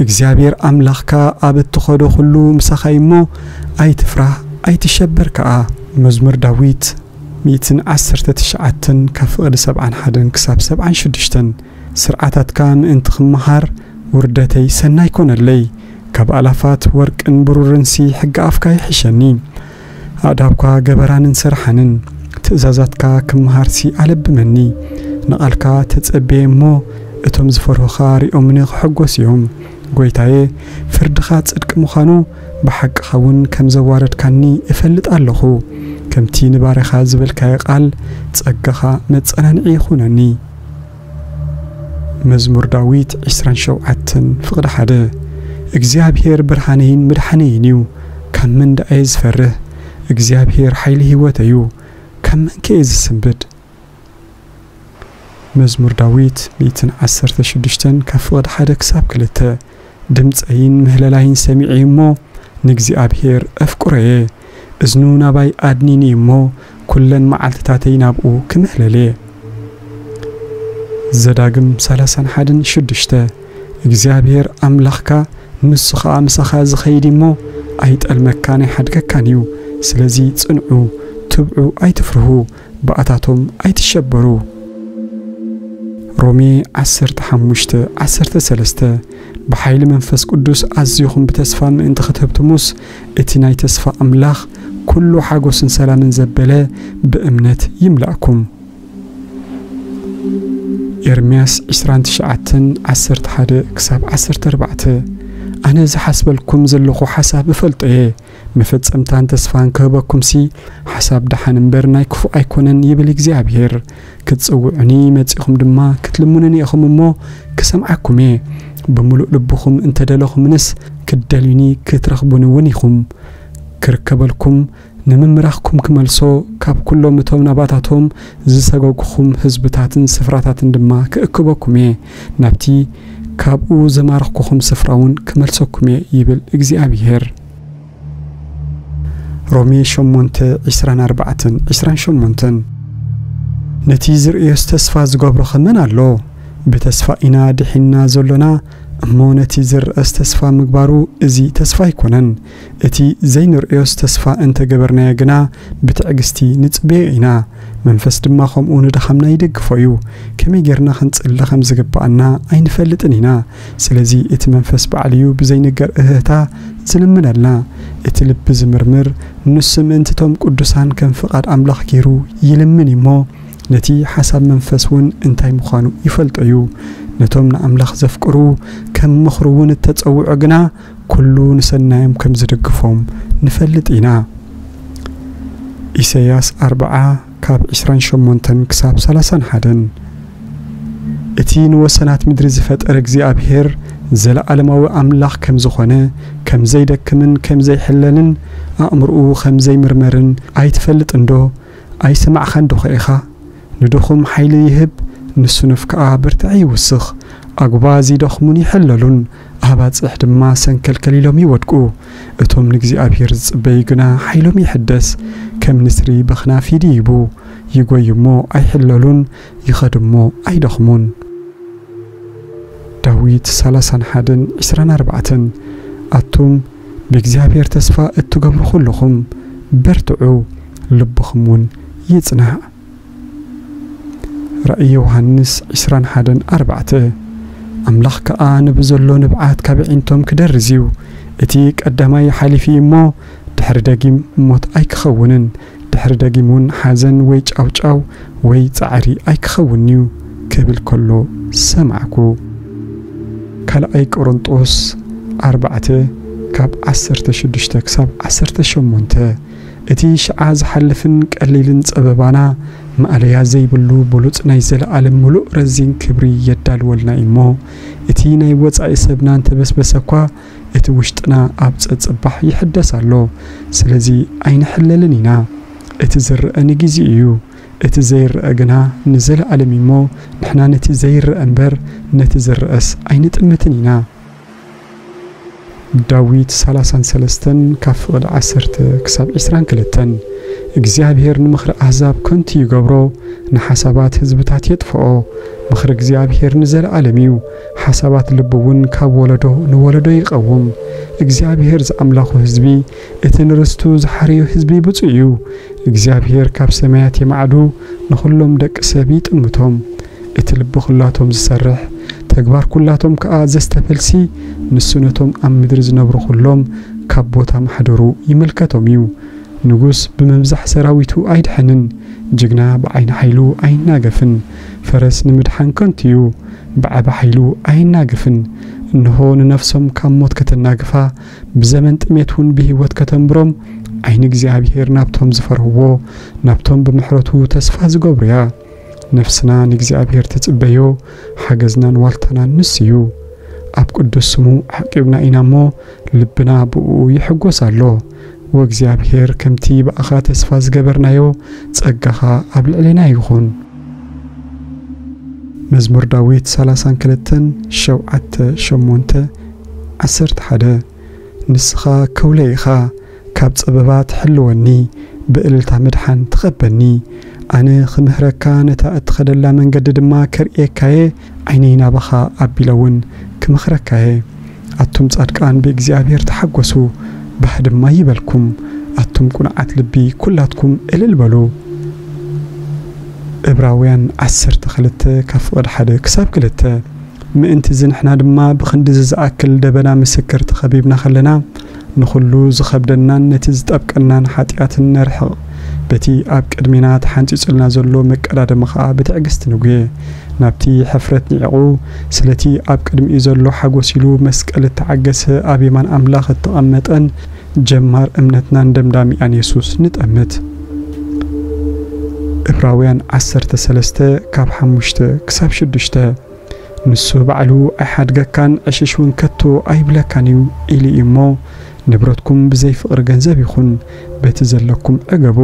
እግዚኣብሔር ኣምላኽካ ኣብ እትኸዶ ኹሉ ምሳኻ እዩ እሞ፣ ኣይትፍራህ፣ ኣይትሸበር ከኣ። መዝሙር ዳዊት ሚእትን ዓሰርተ ትሽዓተን ካብ ፍቕዲ ሰብዓን ሓደን ክሳብ ሰብዓን ሽዱሽተን። ስርዓታትካ ምእንቲ ክመሃር ውርደተይ ሰናይ ኮነለይ። ካብ ኣላፋት ወርቅን ብሩርንሲ ሕጊ ኣፍካ ይሕሸኒ። ኣእዳውካ ገበራንን ሰርሓንን፣ ትእዛዛትካ ክመሃርሲ ኣለብመኒ። ንቓልካ ተጸብየ እሞ፣ እቶም ዝፈርሁኻ ሪኦምኒ ክሕጎሱ እዮም። ጐይታየ፣ ፍርድኻ ጽድቂ ምዃኑ፣ ብሓቅኻ እውን ከም ዘዋረድካኒ እፈልጥ ኣለኹ። ከምቲ ንባርያኻ ዝበልካዮ ቃል፣ ጸጋኻ መጸናንዒ ይኹነኒ። መዝሙር ዳዊት ዕስራን ሸውዓተን ፍቕዲ ሓደ። እግዚኣብሔር ብርሃነይን ምድሓነይን እዩ፣ ካብ መን ደኣ እየ ዝፈርህ? እግዚኣብሔር ሓይሊ ህይወተይ እዩ፣ ካብ መንከ እየ ዝስንብድ? መዝሙር ዳዊት ሚእትን ዓሰርተ ሽዱሽተን ካብ ፍቕዲ ሓደ ክሳብ ክልተ። ድምፀይን ምህለላይን ሰሚዐ እሞ፣ ንእግዚኣብሔር ኣፍቅሮ እየ። እዝኑ ናባይ ኣድኒኒ እሞ፣ ኩለን መዓልትታተይ ናብኡ ክምህለል እየ። ዘዳግም ሰላሳን ሓደን ሽዱሽተ። እግዚኣብሔር ኣምላኽካ ንሱ ኸኣ ምሳኻ ዝኸይድ እሞ፣ ኣይጠልመካን ኣይሓድገካን እዩ። ስለዚ ጽንዑ፣ ትብዑ፣ ኣይትፍርሁ፣ ብኣታቶም ኣይትሸበሩ። ሮሜ ዓሰርተ ሓሙሽተ ዓሰርተ ሰለስተ። ብሓይሊ መንፈስ ቅዱስ ኣዚኹም ብተስፋ ምእንቲ ክትህብትሙስ፣ እቲ ናይ ተስፋ ኣምላኽ ኩሉ ሓጎስን ሰላምን ዘበለ ብእምነት ይምላእኩም። ኤርምያስ ዕስራን ትሽዓተን ዓሰርተ ሓደ ክሳብ ዓሰርተ ኣርባዕተ። ኣነ ዝሓስበልኩም ዘለኹ ሓሳብ እፈልጦ እየ፣ መፈጸምታን ተስፋን ክህበኩምሲ፣ ሓሳብ ደሓን እምበር ናይ ክፉእ ኣይኮነን ይብል እግዚኣብሔር። ክትጽውዑኒ መጺኹም ድማ ክትልምኑኒ ኢኹም እሞ ክሰምዓኩም እየ። ብምሉእ ልብኹም እንተደለኹምንስ ክትደልዩኒ ክትረኽቡኒ እውን ኢኹም። ክርከበልኩም ንምምራኽኩም ክመልሶ ካብ ኩሎም እቶም ናባታቶም ዝሰገጉኹም ህዝብታትን ስፍራታትን ድማ ክእክበኩም እየ። ናብቲ ካብኡ ዘማረኽኩኹም ስፍራ እውን ክመልሰኩም እየ ይብል እግዚኣብሔር። ሮሜ ሸሞንተ፣ ዕስራን ኣርባዕተን፣ ዕስራን ሸሞንተን። ነቲ ዝርእዮስ ተስፋ ዝገብሮ ኸመን ኣሎ? ብተስፋ ኢና ድሒንና ዘሎና እሞ፣ ነቲ ዝርኣስ ተስፋ ምግባሩ እዚ ተስፋ ኣይኮነን። እቲ ዘይንርእዮስ ተስፋ እንተገበርናዮ ግና ብትዕግስቲ ንጽበዮ ኢና። መንፈስ ድማ ከምኡ ንድኻምና ይደግፎ እዩ። ከመይ ጌርና ክንጽሊ ከም ዝግብኣና ኣይንፈልጥን ኢና። ስለዚ እቲ መንፈስ ባዕሉ እዩ ብዘይንገር እህህታ ዝልምነልና። እቲ ልቢ ዝምርምር ንሱ ምእንቲ እቶም ቅዱሳን ከም ፍቓድ ኣምላኽ ገይሩ ይልምን እዩ እሞ፣ ነቲ ሓሳብ መንፈስ እውን እንታይ ምዃኑ ይፈልጦ እዩ። ነቶም ንኣምላኽ ዘፍቅሩ ከም ምኽሩ እውን እተጸውዑ ግና ኩሉ ንሰናዮም ከም ዝድግፎም ንፈልጥ ኢና። ኢሳይያስ ኣርብዓ ካብ ዕስራን ሸሞንተን ክሳብ ሰላሳን ሓደን። እቲ ንወሰናት ምድሪ ዝፈጠረ እግዚኣብሔር ዘለዓለማዊ ኣምላኽ ከም ዝኾነ፣ ከም ዘይደክምን ከም ዘይሕለልን፣ ኣእምርኡ ከም ዘይምርመርን ኣይትፈልጥንዶ? ኣይሰማዕኻንዶ ኸ ኢኻ? ንድኹም ሓይሊ ይህብ፣ ንስኑፍ ከኣ ብርትዒ ይውስኽ። ኣጉባ ዝደኽሙን ይሕለሉን፣ ኣባጽሕ ድማ ሰንከልከል ኢሎም ይወድቁ። እቶም ንእግዚኣብሔር ዝጽበዩ ግና ሓይሎም ይሕደስ፣ ከም ንስሪ በኽናፍ ይድይቡ። ይጎዩ እሞ ኣይሕለሉን፣ ይኸዱ እሞ ኣይደኽሙን። ዳዊት ሰላሳን ሓደን ዕስራን ኣርባዕተን። ኣቱም ብእግዚኣብሔር ተስፋ እትገብሩ ኩልኹም በርትዑ፣ ልብኹም እውን ይጽናዕ። ራእይ ዮሃንስ ዕስራን ሓደን ኣርባዕተ። ኣምላኽ ከኣ ንብዘሎ ንብዓት ካብ ኣዒንቶም ክደርዝ እዩ። እቲ ቀዳማይ ሓሊፉ እዩ እሞ፣ ድሕሪ ደጊም ሞት ኣይክኸውንን፣ ድሕሪ ደጊም እውን ሓዘን ወይ ጫውጫው ወይ ጻዕሪ ኣይክኸውን እዩ ክብል ከሎ ሰማዕኩ። ካልኣይ ቆሮንጦስ ኣርባዕተ ካብ ዓሰርተ ሽዱሽተ ክሳብ ዓሰርተ ሸሞንተ። እቲ ሽዓ ዝሓልፍን ቀሊልን ጸበባና ማእለያ ዘይብሉ ብሉጽ ናይ ዘለኣለም ምሉእ ረዚን ክብሪ የዳልወልና እዩ እሞ፣ እቲ ናይ ወጻኢ ሰብና እንተበስበሰ እኳ፣ እቲ ውሽጥና ኣብ ጸጽባሕ ይሕደስ ኣሎ። ስለዚ ኣይንሕለልን ኢና። እቲ ዝረአ ንጊዜ እዩ። እቲ ዘይረአ ግና ንዘለኣለም እዩ እሞ፣ ንሕና ነቲ ዘይረአ እምበር ነቲ ዝረአስ ኣይንጥምትን ኢና። ዳዊት ሰላሳን ሰለስተን ካብ ፍቕዲ ዓሰርተ ክሳብ ዕስራን ክልተን። እግዚኣብሔር ንምኽሪ ኣህዛብ ከንቱ ይገብሮ፣ ንሓሳባት ህዝብታት የጥፍኦ። ምኽሪ እግዚኣብሔር ንዘለኣለም እዩ፣ ሓሳባት ልቡ እውን ካብ ወለዶ ንወለዶ ይቐውም። እግዚኣብሔር ዝኣምላኹ ህዝቢ፣ እቲ ንርስቱ ዝሓረዮ ህዝቢ ብፁዕ እዩ። እግዚኣብሔር ካብ ሰማያት የማዕዱ፣ ንኹሎም ደቂ ሰብ ይጥምቶም። እቲ ልቢ ኩላቶም ዝሰርሕ፣ ተግባር ኩላቶም ከኣ ዘስተፈልሲ፣ ንሱ ነቶም ኣብ ምድሪ ዝነብሩ ኩሎም ካብ ቦታ ማሕደሩ ይምልከቶም እዩ። ንጉስ ብምብዛሕ ሰራዊቱ ኣይድሕንን፣ ጅግና ብዓይኒ ሓይሉ ኣይናገፍን። ፈረስ ንምድሓን ከንቱ እዩ፣ ብዓቢ ሓይሉ ኣይናገፍን። እንሆ ንነፍሶም ካብ ሞት ከተናግፋ፣ ብዘመን ጥሜት እውን ብህይወት ከተንብሮም፣ ዓይኒ እግዚኣብሔር ናብቶም ዝፈርህዎ፣ ናብቶም ብምሕረቱ ተስፋ ዝገብሩ እያ። ነፍስና ንእግዚኣብሔር ትጽበዮ፣ ሓገዝናን ዋልታናን ንሱ እዩ። ኣብ ቅዱስ ስሙ ዓቂብና ኢና እሞ፣ ልብና ብእኡ ይሕጎስ ኣሎ። ወእግዚኣብሔር፣ ከምቲ ብኣኻ ተስፋ ዝገበርናዮ፣ ጸጋኻ ኣብ ልዕሌና ይኹን። መዝሙር ዳዊት ሰላሳን ክልተን፣ ሸውዓተ፣ ሸሞንተ፣ ዓሰርተ ሓደ። ንስኻ ከውለይ ኢኻ፣ ካብ ጸበባ ትሕልወኒ፣ ብእልልታ ምድሓን ትኸበኒ። ኣነ ክምህረካ፣ ነታ እትኸደላ መንገዲ ድማ ከርእየካየ፣ ዓይነይ ናባኻ ኣቢለ እውን ክመኽረካየ። ኣቱም ጻድቃን ብእግዚኣብሔር ተሓጎሱ፣ ባህ ድማ ይበልኩም። ኣቱም ቁኑዓት ልቢ ኩላትኩም እልል በሉ። ዕብራውያን ዓሰርተ ክልተ ካብ ፍቕዲ ሓደ ክሳብ ክልተ። ምእንቲ እዚ ንሕና ድማ ብኽንድዚ ዝኣክል ደበና ምስክር ተኸቢብና ከለና፣ ንኹሉ ዝኸብደናን ነቲ ዝጠብቀናን ሓጢኣትን ነርሕቕ። በቲ ኣብ ቅድሜና ተሓንጺጹልና ዘሎ መቀዳደሚ ኸኣ ብትዕግስቲ ንጉየ። ናብቲ ሕፍረት ንዒቑ፣ ስለቲ ኣብ ቅድሚኡ ዘሎ ሓጎስ ኢሉ መስቀል እተዓገሰ ኣብ የማን ኣምላኽ እተቐመጠን ጀማር እምነትናን ደምዳሚኣን የሱስ ንጠምት። ዕብራውያን ዓሰርተ ሰለስተ ካብ ሓሙሽተ ክሳብ ሽዱሽተ። ንሱ ባዕሉ ኣይሓድገካን ዕሽሽ እውን ከቶ ኣይብለካን እዩ ኢሉ እዩ እሞ፣ ንብረትኩም ብዘይ ፍቕሪ ገንዘብ ይኹን፣ በቲ ዘለኩም ዕገቡ።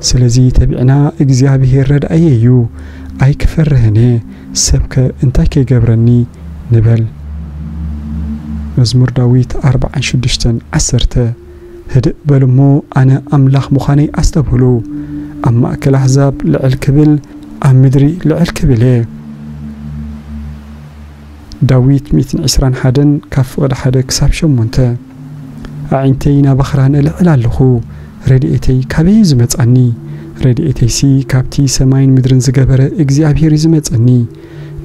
ስለዚ ተቢዕና እግዚኣብሔር ረድኣየ እዩ፣ ኣይክፈርህን እየ፣ ሰብከ እንታይ ከይገብረኒ ንበል። መዝሙር ዳዊት ኣርብዓን ሽዱሽተን ዓሰርተ። ህድእ በሉ እሞ ኣነ ኣምላኽ ምዃነይ ኣስተብህሉ፣ ኣብ ማእከል ኣሕዛብ ልዕል ክብል፣ ኣብ ምድሪ ልዕል ክብል እየ። ዳዊት ሚእትን ዕስራን ሓደን ካብ ፍቕዲ ሓደ ክሳብ ሸሞንተ። ኣዒንተይ ናባኽራ ነልዕል ኣለኹ፣ ረድኤተይ ካበይ እዩ ዝመጻኒ? ረድኤተይሲ ካብቲ ሰማይን ምድርን ዝገበረ እግዚኣብሔር እዩ ዝመጸኒ።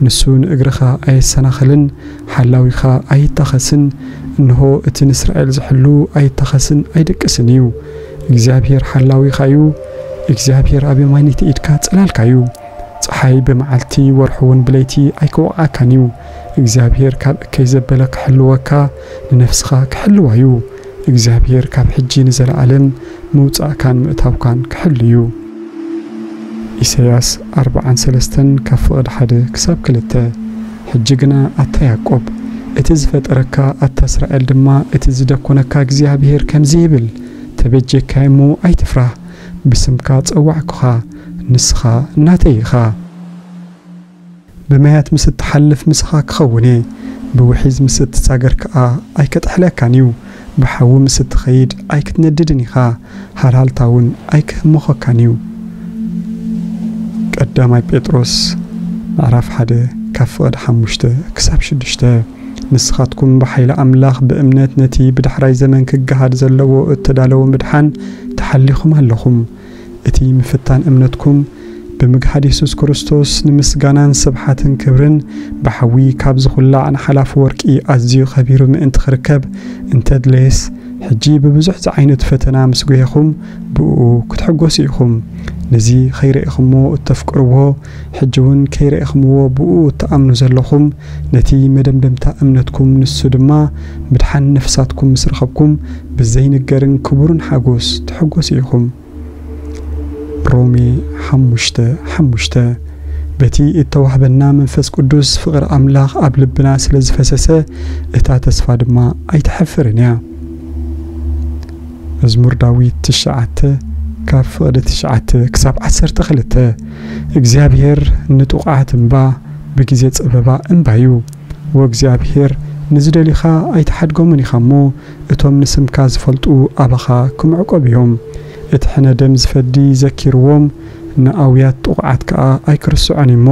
ንሱ ንእግርኻ ኣየሰናኽልን፣ ሓላዊኻ ኣይታኸስን። እንሆ እቲ ንእስራኤል ዝሕሉ ኣይታኸስን ኣይደቅስን እዩ። እግዚኣብሔር ሓላዊኻ እዩ። እግዚኣብሔር ኣብ የማነይቲ ኢድካ ጽላልካ እዩ። ጸሓይ ብመዓልቲ ወርሒ እውን ብለይቲ ኣይክወቕዓካን እዩ። እግዚኣብሔር ካብ እከይ ዘበለ ክሕልወካ፣ ንነፍስኻ ክሕልዋ እዩ። እግዚኣብሔር ካብ ሕጂ ንዘለኣለም ምውጻእካን ምእታውካን ክሕሉ እዩ። ኢሳያስ ኣርብዓን ሰለስተን ካብ ፍቕዲ ሓደ ክሳብ ክልተ። ሕጂ ግና ኣታ ያዕቆብ፣ እቲ ዝፈጠረካ፣ ኣታ እስራኤል ድማ፣ እቲ ዝደኮነካ እግዚኣብሔር ከምዚ ይብል፣ ተበጀካይ እሞ ኣይትፍራህ፣ ብስምካ ጸዋዕኩኻ፣ ንስኻ ናተይ ኢኻ። ብማያት ምስ እትሓልፍ ምሳኻ ክኸውን እየ፣ ብውሒዝ ምስ እትሳገር ከኣ ኣይከጥሕለካን እዩ። ብሓዊ ምስ እትኸይድ ኣይክትነድድን ኢኻ፣ ሃልሃልታ እውን ኣይክህምኾካን እዩ። ቀዳማይ ጴጥሮስ ምዕራፍ ሓደ ካብ ፍቕዲ ሓሙሽተ ክሳብ ሽዱሽተ። ንስኻትኩም ብሓይሊ ኣምላኽ ብእምነት ነቲ ብዳሕራይ ዘመን ክገሃድ ዘለዎ እተዳለወ ምድሓን ተሓሊኹም ኣለኹም። እቲ ምፍታን እምነትኩም ብምግሃድ የሱስ ክርስቶስ ንምስጋናን ስብሓትን ክብርን ብሓዊ ካብ ዝኹላዕ ንሓላፊ ወርቂ ኣዝዩ ኸቢሩ ምእንቲ ክርከብ እንተድለየስ፣ ሕጂ ብብዙሕ ዝዓይነቱ ፈተና ምስ ጐየኹም ብእኡ ክትሕጐሱ ኢኹም። ነዚ ኸይረኤኹምዎ እተፍቅርዎ፣ ሕጂ እውን ከይረኤኹምዎ ብእኡ እትኣምኑ ዘለኹም፣ ነቲ መደምደምታ እምነትኩም ንሱ ድማ ምድሓን ነፍሳትኩም ምስ ረኸብኩም ብዘይንገርን ክቡርን ሓጎስ ትሕጐሱ ኢኹም። ሮሜ ሓሙሽተ ሓሙሽተ። በቲ እተዋህበና መንፈስ ቅዱስ ፍቕሪ ኣምላኽ ኣብ ልብና ስለ ዝፈሰሰ፣ እታ ተስፋ ድማ ኣይትሐፍርን እያ። መዝሙር ዳዊት ትሽዓተ ካብ ፍቕዲ ትሽዓተ ክሳብ ዓሰርተ ክልተ። እግዚኣብሔር ንጥቑዓት እምባ፣ ብግዜ ጸበባ እምባ እዩ። ወእግዚኣብሔር፣ ንዝደልዩኻ ኣይትሓድጎምን ኢኻ እሞ፣ እቶም ንስምካ ዝፈልጡ ኣባኻ ክምዕቆብ እዮም። እቲ ሕነ ደም ዝፈዲ ዘኪርዎም፣ ንኣውያት ጥቑዓት ከኣ ኣይክርስዖን እሞ፣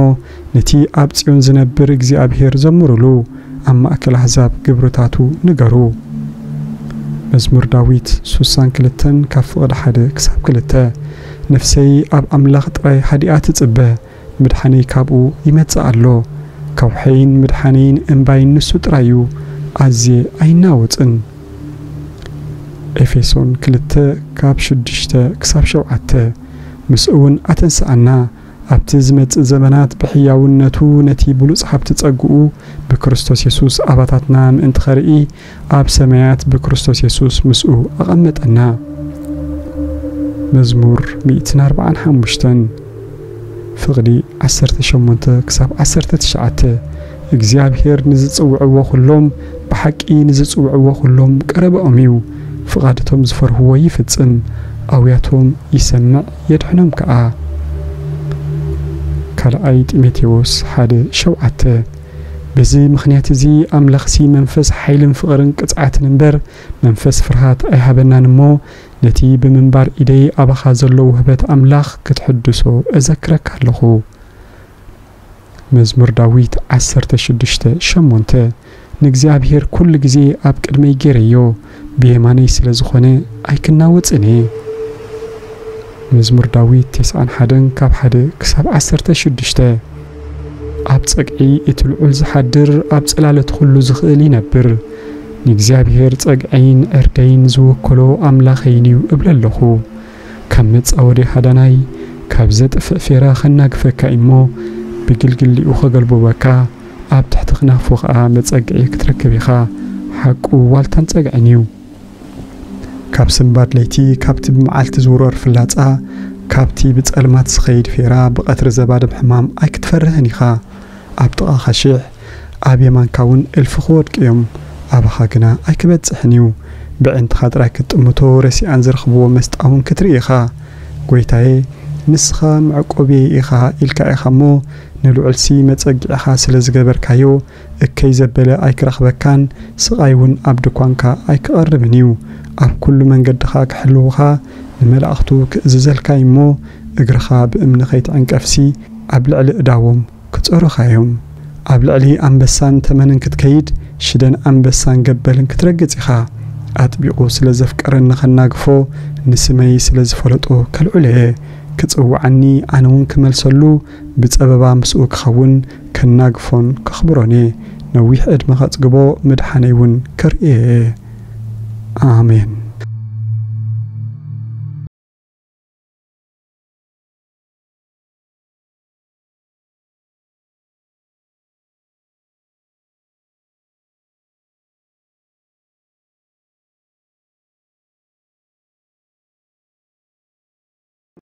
ነቲ ኣብ ጽዮን ዝነብር እግዚኣብሔር ዘምሩሉ፣ ኣብ ማእከል ኣሕዛብ ግብርታቱ ንገሩ። መዝሙር ዳዊት ሱሳን ክልተን ካብ ፍቕዲ ሓደ ክሳብ ክልተ። ነፍሰይ ኣብ ኣምላኽ ጥራይ ሃዲኣ ትጽበ፣ ምድሓነይ ካብኡ ይመጽእ ኣሎ። ከውሐይን ምድሓነይን እምባይን ንሱ ጥራይ እዩ፣ ኣዝየ ኣይናወጽን። ኤፌሶን ክልተ ካብ ሽዱሽተ ክሳብ ሸውዓተ። ምስኡ እውን ኣተንስኣና፣ ኣብቲ ዝመጽእ ዘመናት ብሕያውነቱ ነቲ ብሉጽ ሃብቲ ጸግኡ ብክርስቶስ የሱስ ኣባታትና ምእንቲ ኸርኢ፣ ኣብ ሰማያት ብክርስቶስ የሱስ ምስኡ ኣቐመጠና። መዝሙር ሚእትን ኣርባዓን ሓሙሽተን ፍቕዲ ዓሰርተ ሸሞንተ ክሳብ ዓሰርተ ትሽዓተ። እግዚኣብሔር ንዝጽውዕዎ ኹሎም፣ ብሓቂ ንዝጽውዕዎ ኹሎም ቀረባኦም እዩ። ፍቓድቶም ዝፈርህዎ ይፍጽም፣ ኣውያቶም ይሰምዕ የድሕኖም ከኣ። ካልኣይ ጢሞቴዎስ ሓደ ሸውዓተ። በዚ ምኽንያት እዚ ኣምላኽሲ መንፈስ ሓይልን ፍቕርን ቅጽዓትን እምበር መንፈስ ፍርሃት ኣይሃበናን እሞ፣ ነቲ ብምንባር ኢደይ ኣባኻ ዘሎ ውህበት ኣምላኽ ክትሕድሶ እዘክረካ ኣለኹ። መዝሙር ዳዊት ዓሰርተ ሽዱሽተ ሸሞንተ። ንእግዚኣብሔር ኩሉ ግዜ ኣብ ቅድመይ ገይረዮ፣ ብየማነይ ስለ ዝኾነ ኣይክናወጽን እየ። መዝሙር ዳዊት ተስዓን ሓደን ካብ ሓደ ክሳብ ዓሰርተ ሽዱሽተ። ኣብ ጸግዒ እቲ ልዑል ዝሓድር፣ ኣብ ጽላለት ኩሉ ዝኽእል ይነብር። ንእግዚኣብሔር ጸግዐይን ዕርደይን ዝወከሎ ኣምላኸይን እዩ እብል ኣለኹ። ካብ መጻወዲ ሃዳናይ፣ ካብ ዘጥፍእ ፌራ ኸናግፈካ እሞ፣ ብግልግሊኡ ኸገልብበካ፣ ኣብ ትሕቲ ኽናፉ ኸኣ መጸግዒ ክትረክብ ኢኻ። ሓቁ ዋልታን ጸግዕን እዩ። ካብ ስንባድ ለይቲ፣ ካብቲ ብመዓልቲ ዝውረር ፍላጻ፣ ካብቲ ብጸልማት ዝኸይድ ፌራ፣ ብቐትሪ ዘባድም ሕማም ኣይክትፈርህን ኢኻ። ኣብ ጥቓኻ ሽሕ፣ ኣብ የማንካ እውን እልፊ ክወድቁ እዮም፣ ኣባኻ ግና ኣይክበጽሕን እዩ። ብዕንትኻ ጥራይ ክትጥምቶ፣ ረሲኣን ዝረኽብዎ መስጣ እውን ክትርኢ ኢኻ። ጎይታየ፣ ንስኻ መዕቆብየይ ኢኻ ኢልካ ኢኻ እሞ፣ ንልዑልሲ መጸግዒኻ ስለ ዝገበርካዮ፣ እከይ ዘበለ ኣይክረኽበካን፣ ስቓይ እውን ኣብ ድኳንካ ኣይክቐርብን እዩ። ኣብ ኩሉ መንገድኻ ክሕልዉኻ፣ ንመላእኽቱ ክእዝዘልካ እዩ እሞ፣ እግርኻ ብእምኒ ከይትዕንቀፍሲ፣ ኣብ ልዕሊ እዳዎም ክጸሩኻ እዮም። ኣብ ልዕሊ ኣንበሳን ተመንን ክትከይድ፣ ሽደን ኣንበሳን ገበልን ክትረግጽ ኢኻ። ኣጥቢቑ ስለ ዘፍቀረኒ ከናግፎ፣ ንስመይ ስለ ዝፈለጦ ከልዕሎ እየ። ክጽውዓኒ፣ ኣነ እውን ክመልሰሉ፣ ብጸበባ ምስኡ ክኸውን፣ ከናግፎን ከኽብሮን እየ። ነዊሕ ዕድመ ከጽግቦ፣ ምድሓነይ እውን ከርእዮ እየ። ኣሜን።